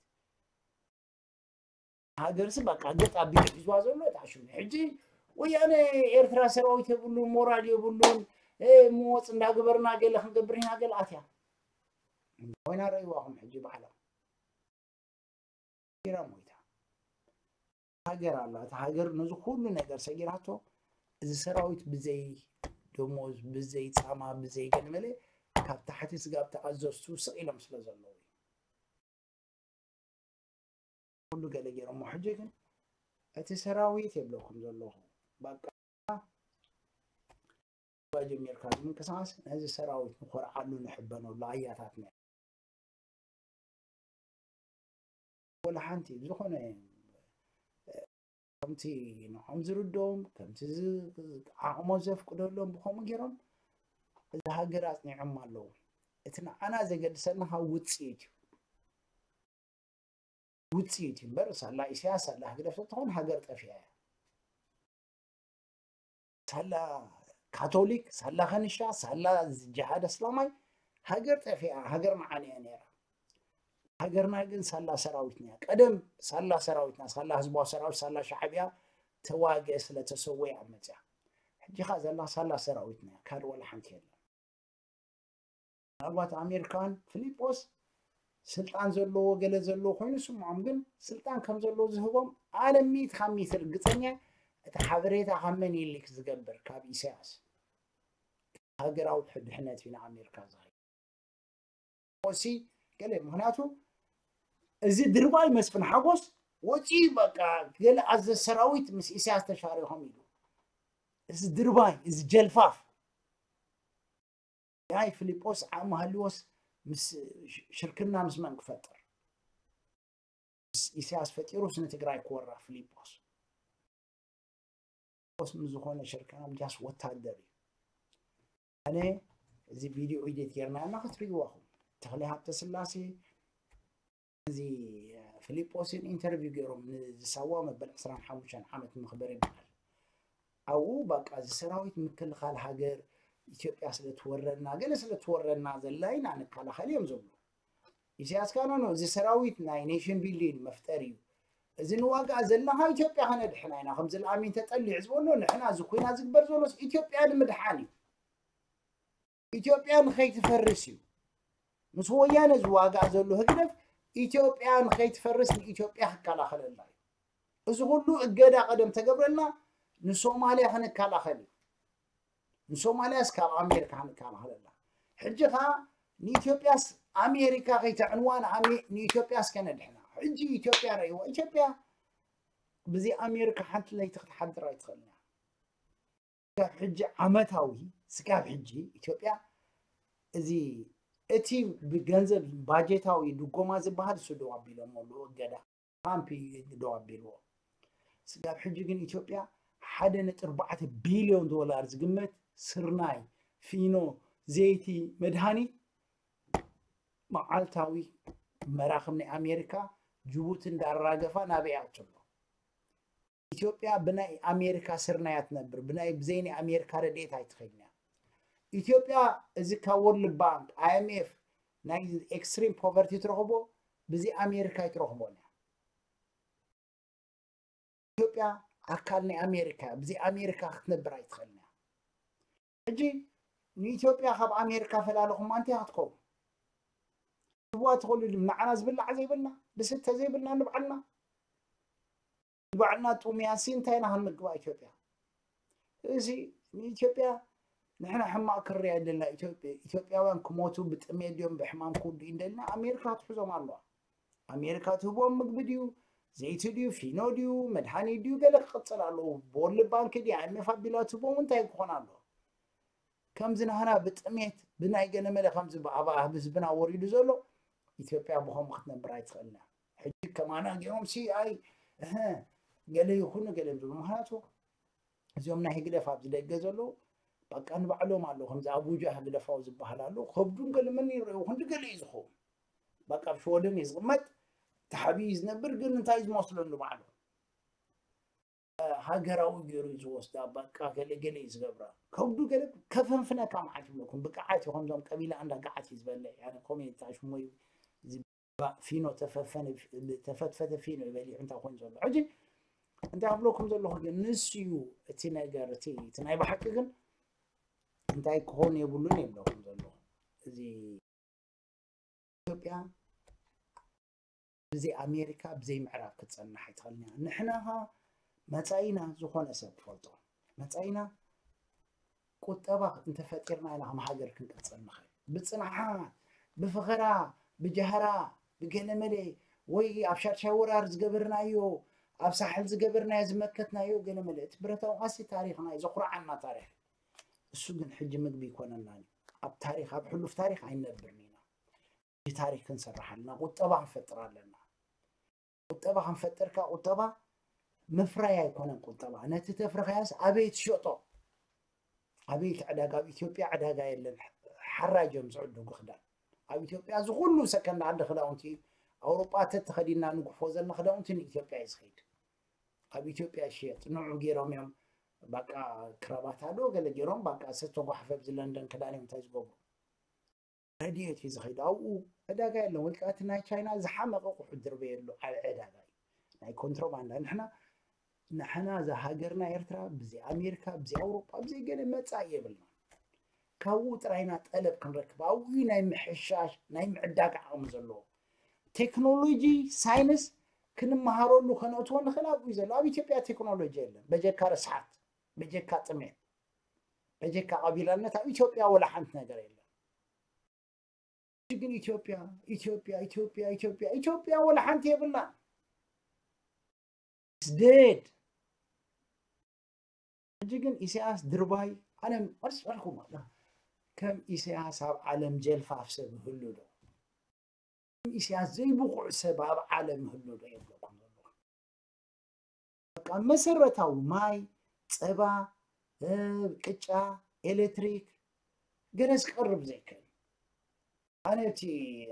ሃገርሲ በቃ ገጥ ኣቢሉ ሒዝዋ ዘሎ እታ ሽሙ ሕጂ ወያነ ኤርትራ ሰራዊት የብሉን ሞራል የብሉን ምወፅ እንዳግበርና ገለ ክንገብር ኢና ገለ ኣትያ ኮይና ረእይዋኹም ሕጂ ባዕላ ኢራ ሞይታ ሃገር ኣላ እታ ሃገር ነዚ ኩሉ ነገር ሰጊራቶ እዚ ሰራዊት ብዘይ ደሞዝ ብዘይ ጻማ ብዘይ ገለመለ ካብ ታሕቲ ስጋብ ተኣዘዝቱ ስቕ ኢሎም ስለ ዘለዉ ኩሉ ገለ ገይሮሞ ሕጂ ግን እቲ ሰራዊት የብለኩም ዘለኹ በቃ ጀሚርካ ምንቅስቃስ ነዚ ሰራዊት ንኮርዓሉ ንሕበነሉ ኣያታትና ወላ ሓንቲ ዝኾነ ከምቲ ንዖም ዝርድኦም ከምቲ ዓቕሞ ዘፍቅደሎም ብከምኡ ገይሮም እዚ ሃገር ኣፅኒዖም ኣለዉ እቲ ንዓና ዘገድሰና ካብ ውፅኢት እዩ ውፅኢት እዩ እምበር ሳላ ኢሳያስ ሳላ ህግደፍ ተትኾን ሃገር ጠፊኣ እያ ሳላ ካቶሊክ ሳላ ከንሻ ሳላ ጅሃድ እስላማይ ሃገር ጠፊኣ ሃገር መዓንያ ነይራ ሃገርና ግን ሳላ ሰራዊትና እያ ቀደም ሳላ ሰራዊትና ሳላ ህዝባዊ ሰራዊት ሳላ ሻዕብያ ተዋግአ ስለተሰወየ ኣብ መፅያ ሕጂ ካ ዘላ ሳላ ሰራዊትና እያ ካልእ ዋላ ሓንቲ የለን ምናልባት ኣሜሪካን ፊሊጶስ ስልጣን ዘለዎ ገለ ዘለዎ ኮይኑ ስምዖም ግን ስልጣን ከም ዘለዎ ዝህቦም ኣለም ሚእቲ ካብ ሚእቲ ርግፀኛ እቲ ሓበሬታ ካብ መን ይልክ ዝገብር ካብ ኢሳያስ ሃገራዊ ድሕነት እዩ ንኣሜሪካ ዝኸ ሲ ገለ ምክንያቱ እዚ ድርባይ መስፍን ሓጎስ ወፂኡ በቃ ገለ ኣዘ ሰራዊት ምስ ኢሳያስ ተሻሪኾም ኢሉ እዚ ድርባይ እዚ ጀልፋፍ ናይ ፊሊጶስ ዓቕሚ ሃልዎስ ምስ ሽርክና ምስ መን ክፈጥር? ምስ ኢሳያስ ፈጢሩስ ንትግራይ ክወራ ፊሊጶስ? ፊሊጶስ ምስ ዝኾነ ሽርክና ምጃስ ወታደር እዩ። ኣነ እዚ ቪድዮ ኢዲት ጌርና እና ክትርእይዎ ኢኹም። ተኽለ ሃብተ ስላሴ እዚ ፊሊጶስን ኢንተርቪው ገይሮም ንዝሳዋ መበል ዕስራን ሓሙሽተን ዓመት መኽበሪ በዓል ኣብኡ በቃ እዚ ሰራዊት ምክልኻል ሃገር ኢትዮጵያ ስለ ትወረና ገለ ስለ ትወረና ዘላ ኢና ንከላኸል እዮም ዝብሉ። ኢሳያስ ካኖ እዚ ሰራዊት ናይ ኔሽን ቢልዲንግ መፍጠር እዩ። እዚ ንዋጋ ዘለና ኢትዮጵያ ከነድሕና ኢና ከምዚ ለኣሚን ተጠሊዕ ዝበሎ ንሕና እዚ ኮይና ዝግበር ዘሎስ ኢትዮጵያ ንምድሓን እዩ። ኢትዮጵያ ንኸይትፈርስ እዩ። ምስ ወያነ ዝዋጋእ ዘሎ ህግደፍ ኢትዮጵያ ንኸይትፈርስ ንኢትዮጵያ ክከላኸለላ እዩ። እዚ ኩሉ እገዳ ቀደም ተገብረልና ንሶማልያ ክንከላኸል እዩ። ንሶማልያስ ካብ ኣሜሪካ ክንከላኸለላ። ሕጂ ኸዓ ንኢትዮጵያስ ኣሜሪካ ከይተዕንዋ ንኣሜ- ንኢትዮጵያስ ከነድሕና። ሕጂ ኢትዮጵያ ረእይዋ። ኢትዮጵያ ብዚ ኣሜሪካ ሓንቲ ለይቲ ክትሓድር ኣይትኽእልን እያ። ስጋብ ሕጂ ዓመታዊ ስጋብ ሕጂ ኢትዮጵያ እዚ እቲ ብገንዘብ ባጀታዊ ድጎማ ዝበሃል እሱ ደው ኣቢሎም ኣለዉ እገዳ ትራምፕ እዩ ደው ኣቢልዎ። ስጋብ ሕጂ ግን ኢትዮጵያ ሓደ ነጥቢ ኣርባዕተ ቢልዮን ዶላር ዝግመት ስርናይ፣ ፊኖ፣ ዘይቲ፣ መድሃኒት መዓልታዊ መራኽብ ናይ ኣሜሪካ ጅቡቲ እንዳራገፋ ናበይ ኣትሎ? ኢትዮጵያ ብናይ ኣሜሪካ ስርናይ እያ ትነብር፣ ብናይ ብዘይ ናይ ኣሜሪካ ረድኤት ኣይትኸይድን እያ። ኢትዮጵያ እዚ ካብ ወርልድ ባንክ፣ ኣይኤምኤፍ ናይ ኤክስትሪም ፖቨርቲ ትረኽቦ ብዚ ኣሜሪካ ኣይትረኽቦን እያ። ኢትዮጵያ ኣካል ናይ ኣሜሪካ እያ፣ ብዚ ኣሜሪካ ክትነብር ኣይትኽእልን እያ። ሕጂ ንኢትዮጵያ ካብ ኣሜሪካ ፈላለኹማ እንታይ ክትከውን? ትህብዋ ትኽእሉ ድም ንዓና ዝብላዕ ዘይብልና፣ ዝስተ ዘይብልና ንባዕልና ንባዕልና ጥሙያሲ እንታይ ኢና ክንምግባ ኢትዮጵያ? እዚ ንኢትዮጵያ ንሕና ሕማቕ ክርያ የለና። ኢትዮጵያ ኢትዮጵያውያን ክሞቱ ብጥሜት ድዮም ብሕማም ክውድኡ እንደልና ኣሜሪካ ትሕዞም ኣለዋ። ኣሜሪካ ትህቦም ምግቢ ድዩ ዘይቲ ድዩ ፊኖ ድዩ መድሃኒት ድዩ ገለ ክቕጽል ኣለዎ። ብወርልድ ባንክ ድዩ ኣይኤምኤፍ ኣቢላ ትህቦም እንታይ ክኾን ኣለዎ? ከምዚ ናህና ብጥሜት ብናይ ገለመለ ከምዚ ብኣባ ህዝብና ወሪዱ ዘሎ ኢትዮጵያ ብኸምኡ ክትነብር ኣይትኽእልና። ሕጂ ከማና ገይሮም ሲ ኣይ እህ ገለ ይኹኑ ገለ ዝብሉ ምክንያቱ እዚኦም ናይ ህግደፍ ኣብዚ ደገ ዘለዉ በቃ ንባዕሎም ኣለዉ። ከምዚ ኣቡጃ ህግደፋዊ ዝበሃል ኣሎ። ከብዱን ገለ መን ይረኣዩ ክንዲ ገለ እዩ ዝኸውን። በቃ ኣብ ሽወደን እዩ ዝቕመጥ። ተሓቢኡ እዩ ዝነብር ግን እንታይ ዝመስሎ ንባዕሉ ሃገራዊ ገይሩ እዩ ዝወስዳ። በቃ ገለ ገለ እዩ ዝገብራ። ከብዱ ገለ ከፈንፍነካ መዓት ይብለኩም ብቅዓት እዩ። ከምዞም ቀቢላ እንዳ ገዓት እዩ ዝበልዕ ያነ ኮሜንታ ሽሞይ ፊኖ ተፈፈነ ተፈትፈተ ፊኖ ይበልዕ እንታይ ኮይኑ ዘሎ ሕጂ እንታይ ኣብለኩም ዘለኹ ግን ንሱ እዩ እቲ ነገር እቲ እቲ ናይ ብሓቂ ግን እንታይ ክኾን የብሉን የብለኩም ዘለኹ እዚ ኢትዮጵያ ብዘይ ኣሜሪካ ብዘይ ምዕራብ ክትፀንሕ ኣይትኽእልን እያ። ንሕና ኸ መፃኢና ዝኾነ ሰብ ክፈልጦ መፃኢና ቁጠባ እንተፈጢርና ኢና ከም ሃገር ክንቅፅል ንኽእል። ብፅንዓት፣ ብፍኸራ፣ ብጃህራ፣ ብገለመለ ወይ ኣብ ሻድሻይ ወራር ዝገበርናዮ ኣብ ሳሕል ዝገበርናዮ ዝመከትናዮ ገለመለ እቲ ብረታዊ ቃልሲ ታሪኽና እዩ ዘኹርዓና ታሪኽ። እሱ ግን ሕጂ ምግቢ ይኮነናን እዩ። ኣብ ታሪኽ ኣብ ሕሉፍ ታሪኽ ኣይንነብርን ኢና። ሕጂ ታሪኽ ክንሰርሕ ኣለና። ቁጠባ ክንፈጥር ኣለና። ቁጠባ ክንፈጥር ከኣ ቁጠባ ምፍራይ ኣይኮነን ቁጠባ ነቲ ተፍረኻያስ ኣበይ ትሸጦ ኣበይ እቲ ዕዳጋ ኣብ ኢትዮጵያ ዕዳጋ የለን። ሓራጅ እዮም ዝዕድጉ ክዳን ኣብ ኢትዮጵያ እዚ ኩሉ ሰከንድ ዓዲ ክዳውንቲ ኣውሮጳ ተተኸዲና ንጉሕፎ ዘለና ክዳውንቲ ንኢትዮጵያ እዩ ዝኸይድ። ኣብ ኢትዮጵያ ይሽየጥ ንዑ ገይሮም እዮም በቃ ክራባታ ዶ ገለ ገይሮም በቃ ዝተጓሕፈ ኣብዚ ለንደን ክዳን እዮም እንታይ ዝገብሩ ረድኤት እዩ ዝኸይድ ኣብኡ ዕዳጋ የለን ወይ ከዓ እቲ ናይ ቻይና ዝሓመቐ ቁሑ ድርበየሉ ዓብ ዕዳጋ እዩ ናይ ኮንትሮባንዳ ንሕና ንሕና እዛ ሃገርና ኤርትራ ብዘይ ኣሜሪካ ብዘይ ኣውሮጳ ብዘይ ገለ መፃኢ የብልና ካብኡ ጥራይና ጠለብ ክንረክብ ኣብኡ ናይ ምሕሻሽ ናይ ምዕዳግ ዓቕሚ ዘለዎ ቴክኖሎጂ ሳይንስ ክንመሃረሉ ከነእትዎ ንኽእል ኣብኡ ዘሎ ኣብ ኢትዮጵያ ቴክኖሎጂ የለን በጀካ ርስሓት በጀካ ጥሜት በጀካ ቀቢላነት ኣብ ኢትዮጵያ ወላ ሓንቲ ነገር የለን ግን ኢትዮጵያ ኢትዮጵያ ኢትዮጵያ ኢትዮጵያ ኢትዮጵያ ወላ ሓንቲ የብላን dead ሕጂ ግን ኢሳያስ ድርባይ ኣነ መልስ ኣልኩም ከም ኢሳያስ ኣብ ዓለም ጀልፋፍ ሰብ ይህሉ ዶ? ከም ኢሳያስ ዘይብቑዕ ሰብ ኣብ ዓለም ይህሉ ዶ የብለኩም ዘለኹ። በቃ መሰረታዊ ማይ፣ ጸባ፣ እ፣ ቅጫ፣ ኤሌክትሪክ፣ ገለ ዝቀርብ ዘይከን። ኣነ እቲ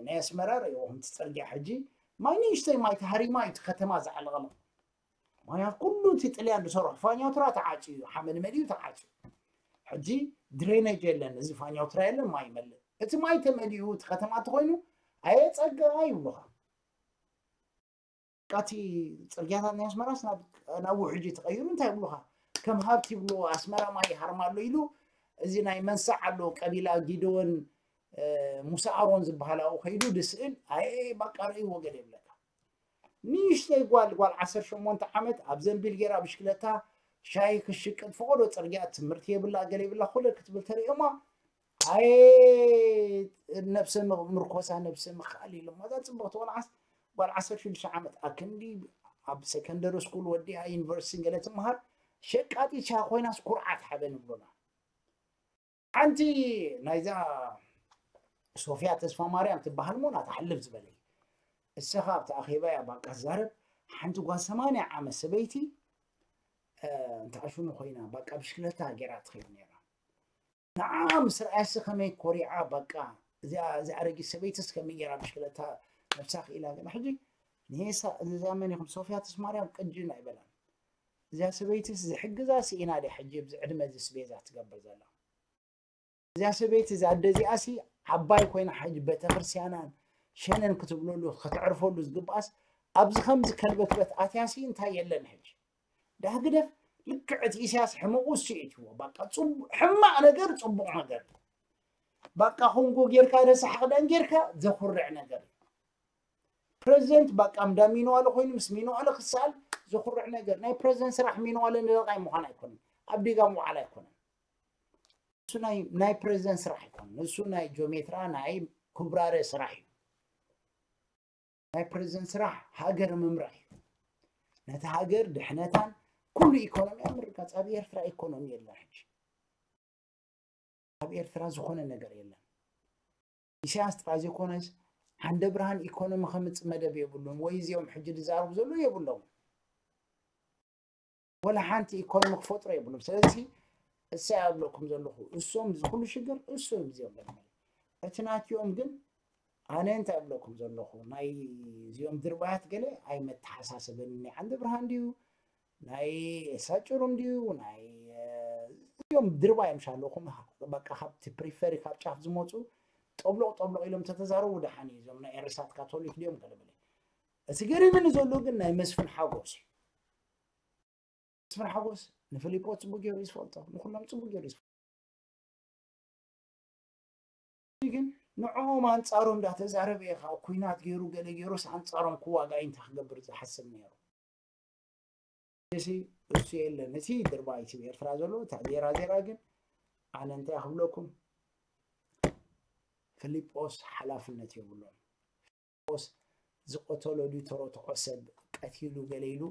ናይ ኣስመራ ርእይዎ፣ ከምቲ ጽርግያ ሕጂ ማይ ንእሽተይ ማይ ተሃሪማ እዩ እቲ ከተማ ዝዓለቐሎ። ምኽንያቱ ኩሉ እቲ ጥልያን ዝሰርሖ ፋኛቱራ ተዓጽዩ እዩ፣ ሓመድ መሊኡ ተዓጽዩ። ሕጂ ድሬነጅ የለን፣ እዚ ፋኛቱራ የለን፣ ማይ ይመልእ። እቲ ማይ ተመሊኡ እቲ ከተማ እንተኾይኑ ኣየ ጸጋ ይብሉኻ። በቃ እቲ ጽርግያታት ናይ ኣስመራስ ናብ፣ ናብ ውሕጂ ተቐይሩ እንታይ ይብሉኻ? ከም ሃብቲ ይብሉ፣ ኣስመራ ማይ ይሃርማ ኣሎ ኢሉ፣ እዚ ናይ መንሳዕ ኣሎ፣ ቀቢላ ጊደዎን፣ እ፣ ሙሳ ኣሮን ዝበሃል ኣብኡ ከይዱ ድስእል፣ ኣየ በቃ ርእይዎ ገለ ይብለካ። ንእሽተይ ጓል፣ ጓል ዓሰርተ ሸሞንተ ዓመት ኣብ ዘንቢል ጌራ ብሽክለታ ሻሂ ክሽቅጥ ፈቐዶ ጽርግያ ትምህርቲ የብላ፣ ገለ የብላ፣ ኩለ ክትብል ተርእዮማ፣ ኣየ ነብሰ ም-፣ ምርኮሳ፣ ነብሰ ምኽኣል ኢሎማ። እዛ ጽብቕቲ ቆልዓስ ጓል ዓሰርተ ሽዱሽተ ዓመት ኣክንዲ ኣብ ሰከንደሪ ስኩል ወዲኣ ዩኒቨርሲቲ ገለ ትመሃር ሸቃጢት ሻሂ ኮይናስ ኩርዓት ሓበን ይብሉና። ሓንቲ ናይዛ ሶፍያ ተስፋ ማርያም ትበሃል ሞ ናታ ሕልፍ ዝበለ። እሰኻ ኣብቲ ኣኼባ እያ ባቃ ትዛረብ። ሓንቲ ጓል ሰማንያ ዓመት ሰበይቲ፣ እ፣ እንተ ኣሽሙ ኮይና ባቃ ብሽክለታ ገይራ ትኸይድ ነይራ። ንዓ ምስ ረኣያሲ ከመይ ኮሪዓ ባቃ። እዚኣ፣ እዚኣ ኣረጊት ሰበይትስ ከመይ ገይራ ብሽክለታ ነብሳ ክኢላ ገለ። ሕጂ ንሄሳ፣ እዛ መን ኢኹም? ሶፍያ ተስፋ ማርያም ቅጅን ኣይበላን። እዚኣ ሰበይትስ ዝሕግዛ ስኢና ድያ ሕጂ ኣብዚ ዕድመ እዚስ ቤዛ ትገብር ዘላ? እዚኣ ሰበይቲ፣ እዛ ኣደ እዚኣሲ ዓባይ ኮይና ሕጂ ቤተክርስትያናን ሸነን ክትብለሉ፣ ከተዕርፈሉ ዝግብኣስ ኣብዚ ከምዚ ከልበትበት ኣትያሲ እንታይ የለን ሕጂ? ዳህ ግደፍ፣ ልክዕ እቲ ኢሳያስ ሕመቑ እሱ እዩ እትዎ። በቃ ጽቡ-፣ ሕማቕ ነገር ጽቡቕ ነገር። በቃ ኮንጎ ጌርካ፣ ረሳሕ ክዳን ጌርካ ዘኹርዕ ነገር። ፕረዚደንት በቃ እንዳ ሚንዋለ ኮይኑ ምስ ሚንዋለ ክሰኣል ዘኹርዕ ነገር። ናይ ፕረዚደንት ስራሕ ሚንዋለ ንደቃይ ምዃን ኣይኮነን። ኣብ ዲጋ ምውዓል ኣይኮነን። እሱ ናይ፣ ናይ ፕረዚደንት ስራሕ ኣይኮነን። እሱ ናይ ጆሜትራ ናይ ኩብራረ ስራሕ እዩ። ናይ ፕረዚደንት ስራሕ ሃገር ምምራሕ እዩ። ነቲ ሃገር ድሕነታን ኩሉ ኢኮኖሚያ ምርጋጽ። ኣብ ኤርትራ ኢኮኖሚ የለን ሕጂ። ኣብ ኤርትራ ዝኾነ ነገር የለን። ኢሳያስ ጥራይ ዘይኮነስ ዓንደ ብርሃን ኢኮኖሚ ከምጽእ መደብ የብሉን። ወይ እዚኦም ሕጂ ዝዛረቡ ዘለዉ የብሎም። ወላ ሓንቲ ኢኮኖሚ ክፈጥሩ የብሎም። ስለዚ እሰይ ኣብለኩም ዘለኹ፣ እሶም እዚ ኩሉ ሽግር እሶም እዚኦም ገለ። እቲ ናትዮም ግን ኣነ እንታይ ኣብለኩም ዘለኹ፣ ናይ እዚኦም ድርባያት ገለ ኣይመተሓሳሰበኒ። ናይ ዓንደ ብርሃን ድዩ፣ ናይ ሳጭሩም ድዩ፣ ናይ፣ እ፣ እዚኦም ድርባይ ምሻለኹም፣ በቃ ካብቲ ፕሪፈሪ ካብ ጫፍ ዝመጹ ጠብሎቕ ጠብሎቕ ኢሎም ተተዛረቡ ደሓን እዩ። እዞም ናይ ኤርሳት ካቶሊክ ድዮም ገለ በለ። እቲ ገሪምኒ ዘሎ ግን ናይ መስፍን ሓጎስ እዩ። መስፍን ሓጎስ ንፊሊፖስ ጽቡቅ ገይሩ እዩ ዝፈልጦ፣ ንኩሎም ጽቡቅ ገይሩ እዩ ዝፈልጦ። ግን ንዕኦም ኣንጻሮም እንዳተዛረበ እዩ፣ ካብ ኩናት ገይሩ ገለ ገይሩስ ኣንጻሮም ክዋጋእ እንታይ ክገብር ዝሓስብ ነይሩ? እዚ እሱ የለን። እቲ ድርባ እቲ ኤርትራ ዘሎ፣ እታ ዜራ ዜራ ግን ኣነ እንታይ ክብለኩም፣ ፊሊጶስ ሓላፍነት የብሉን። ፊሊጶስ ዝቀተሎ ድዩ ተረትዖ ሰብ ቀቲሉ ገለ ኢሉ፣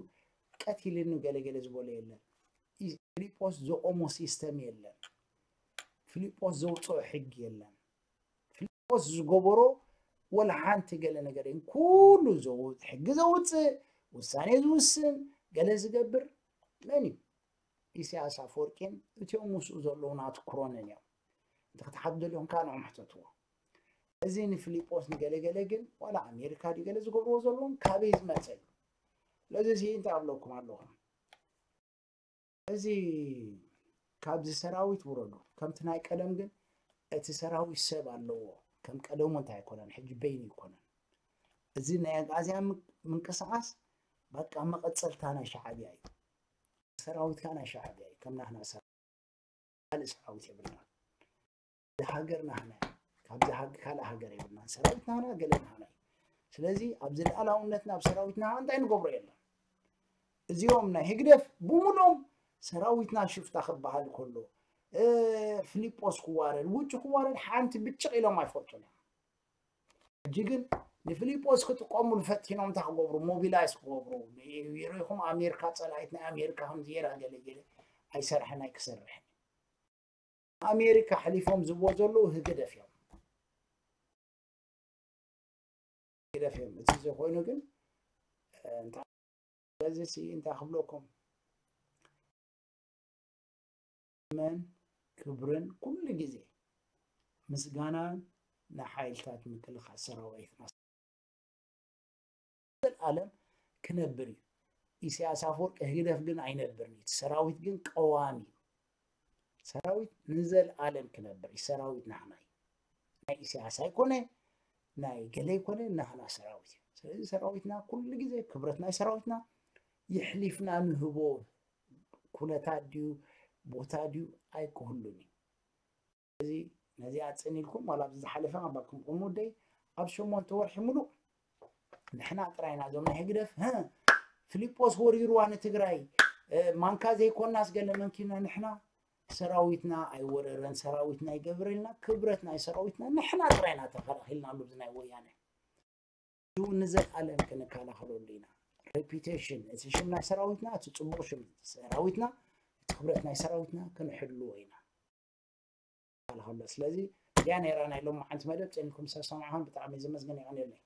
ቀቲልኒ ገለ ገለ ዝበሎ የለን። ፊሊጶስ ዘቆሞ ሲስተም የለን። ፊሊጶስ ዘውፅኦ ሕጊ የለን። ፊሊጶስ ዝገበሮ ወላ ሓንቲ ገለ ነገር የለን። ኩሉ ዘው-፣ ሕጊ ዘውፅእ፣ ውሳኔ ዝውስን፣ ገለ ዝገብር መን እዩ? ኢሳያስ ኣፈወርቂን እቲኦም ምስኡ ዘለዉ ናቱ ክሮንን እዮም። እንተ ክትሓቱ ደሊኹም ከዓ ንዕኦም ሕተትዎ። እዚ ንፊሊጶስ ንገለገለ ግን ዋላ ኣሜሪካ ድዩ ገለ ዝገብርዎ ዘለዎም ካበይ ዝመፀ እዩ? ስለዚ እዚ እንታይ ኣብለኩም ኣለኹም? እዚ ካብዚ ሰራዊት ውረዱ። ከምቲ ናይ ቀደም ግን እቲ ሰራዊት ሰብ ኣለዎ። ከም ቀደሙ እንታይ ኣይኮነን፣ ሕጂ በይኑ ኣይኮነን። እዚ ናይ ኣግኣዝያን ም-፣ ምንቅስቃስ በቃ መቐፀልታ ናይ ሻዕብያ እዩ። ሰራዊት ከዓ ናይ ሻዕብያ እዩ። ከም ናህና ሰራዊት ካልእ ሰራዊት የብልናን። እዚ ሃገር ናህና እዩ። ካብዚ ሃግ-፣ ካልእ ሃገር የብልናን። ሰራዊት ናህና፣ ገለ ናህና እዩ። ስለዚ ኣብዚ ልኣላውነትና ኣብ ሰራዊትና እንታይ ንገብሮ የለን። እዚኦም ናይ ህግደፍ ብምሎም ሰራዊትና ሽፍታ ክበሃል ከሎ፣ እ፣ ፊሊጶስ ክዋረድ፣ ውጩ ክዋረድ ሓንቲ ብጭቕ ኢሎም ኣይፈልጡን እዮም። ሕጂ ግን ንፊሊጶስ ክጥቀሙሉ ፈቲኖም እንታይ ክገብሩ፣ ሞቢላይዝ ክገብሩ። ሪኢኹም ኣሜሪካ ጸላኢት ናይ ኣሜሪካ ከም ዜራ ገለ ገለ ኣይሰርሐን ኣይክሰርሕን። ኣሜሪካ ሕሊፎም ዝብዎ ዘለዉ ህግደፍ እዮም። ህግደፍ እዮም። እቲ ዘይኮይኑ ግን፣ እ፣ እንታይ፣ በዚ ሲ እንታይ ክብለኩም? መን ክብርን ኩሉ ግዜ ምስጋናን ንሓይልታት ምክልኻል ሰራዊትና። ዘልኣለም ክነብር እዩ። ኢሳያስ ኣፈወርቂ ህግደፍ ግን ኣይነብርን እዩ። እቲ ሰራዊት ግን ቀዋሚ እዩ። ሰራዊት ንዘልኣለም ክነብር እዩ። ሰራዊት ናህና እዩ። ናይ ኢሳያስ ኣይኮነ፣ ናይ ገለ ኣይኮነ፣ ናህና ሰራዊት እዩ። ስለዚ ሰራዊትና ኩሉ ግዜ ክብረት ናይ ሰራዊትና ይሕሊፍና ንህቦ ኩነታት ድዩ ቦታ ድዩ ኣይክህሉን እዩ። እዚ ነዚኣ ጽን ኢልኩም ዋላ ኣብዚ ዝሓለፈ ኣባኩም ቁሙ ደይ ኣብ ሸሞንተ ወርሒ ሙሉእ ንሕና ጥራይና እዞም ናይ ህግደፍ፣ ህ፣ ፊሊጶስ ወሪርዋ ንትግራይ፣ እ፣ ማንካ ዘይኮናስ ገለ መንኪና ንሕና ሰራዊትና ኣይወረረን፣ ሰራዊትና ኣይገበረልና፣ ክብረት ናይ ሰራዊትና ንሕና ጥራይና ተኸላኺልና ኣሎ ብዚ ናይ ወያነ። ንዘልኣለም ክንከላኸለሉ ኢና። ሬፒቴሽን፣ እቲ ሽም ናይ ሰራዊትና፣ እቲ ጽቡቕ ሽም ሰራዊትና፣ እቲ ክብረት ናይ ሰራዊትና ክንሕልዎ ኢና። ከላኸሎ። ስለዚ እዚኣ ነይራ ናይ ሎማዓንቲ መደብ። ጸኒኩም ሰብ ሰማዕኹም ብጣዕሚ ዘመስግን ይቐንየለይ።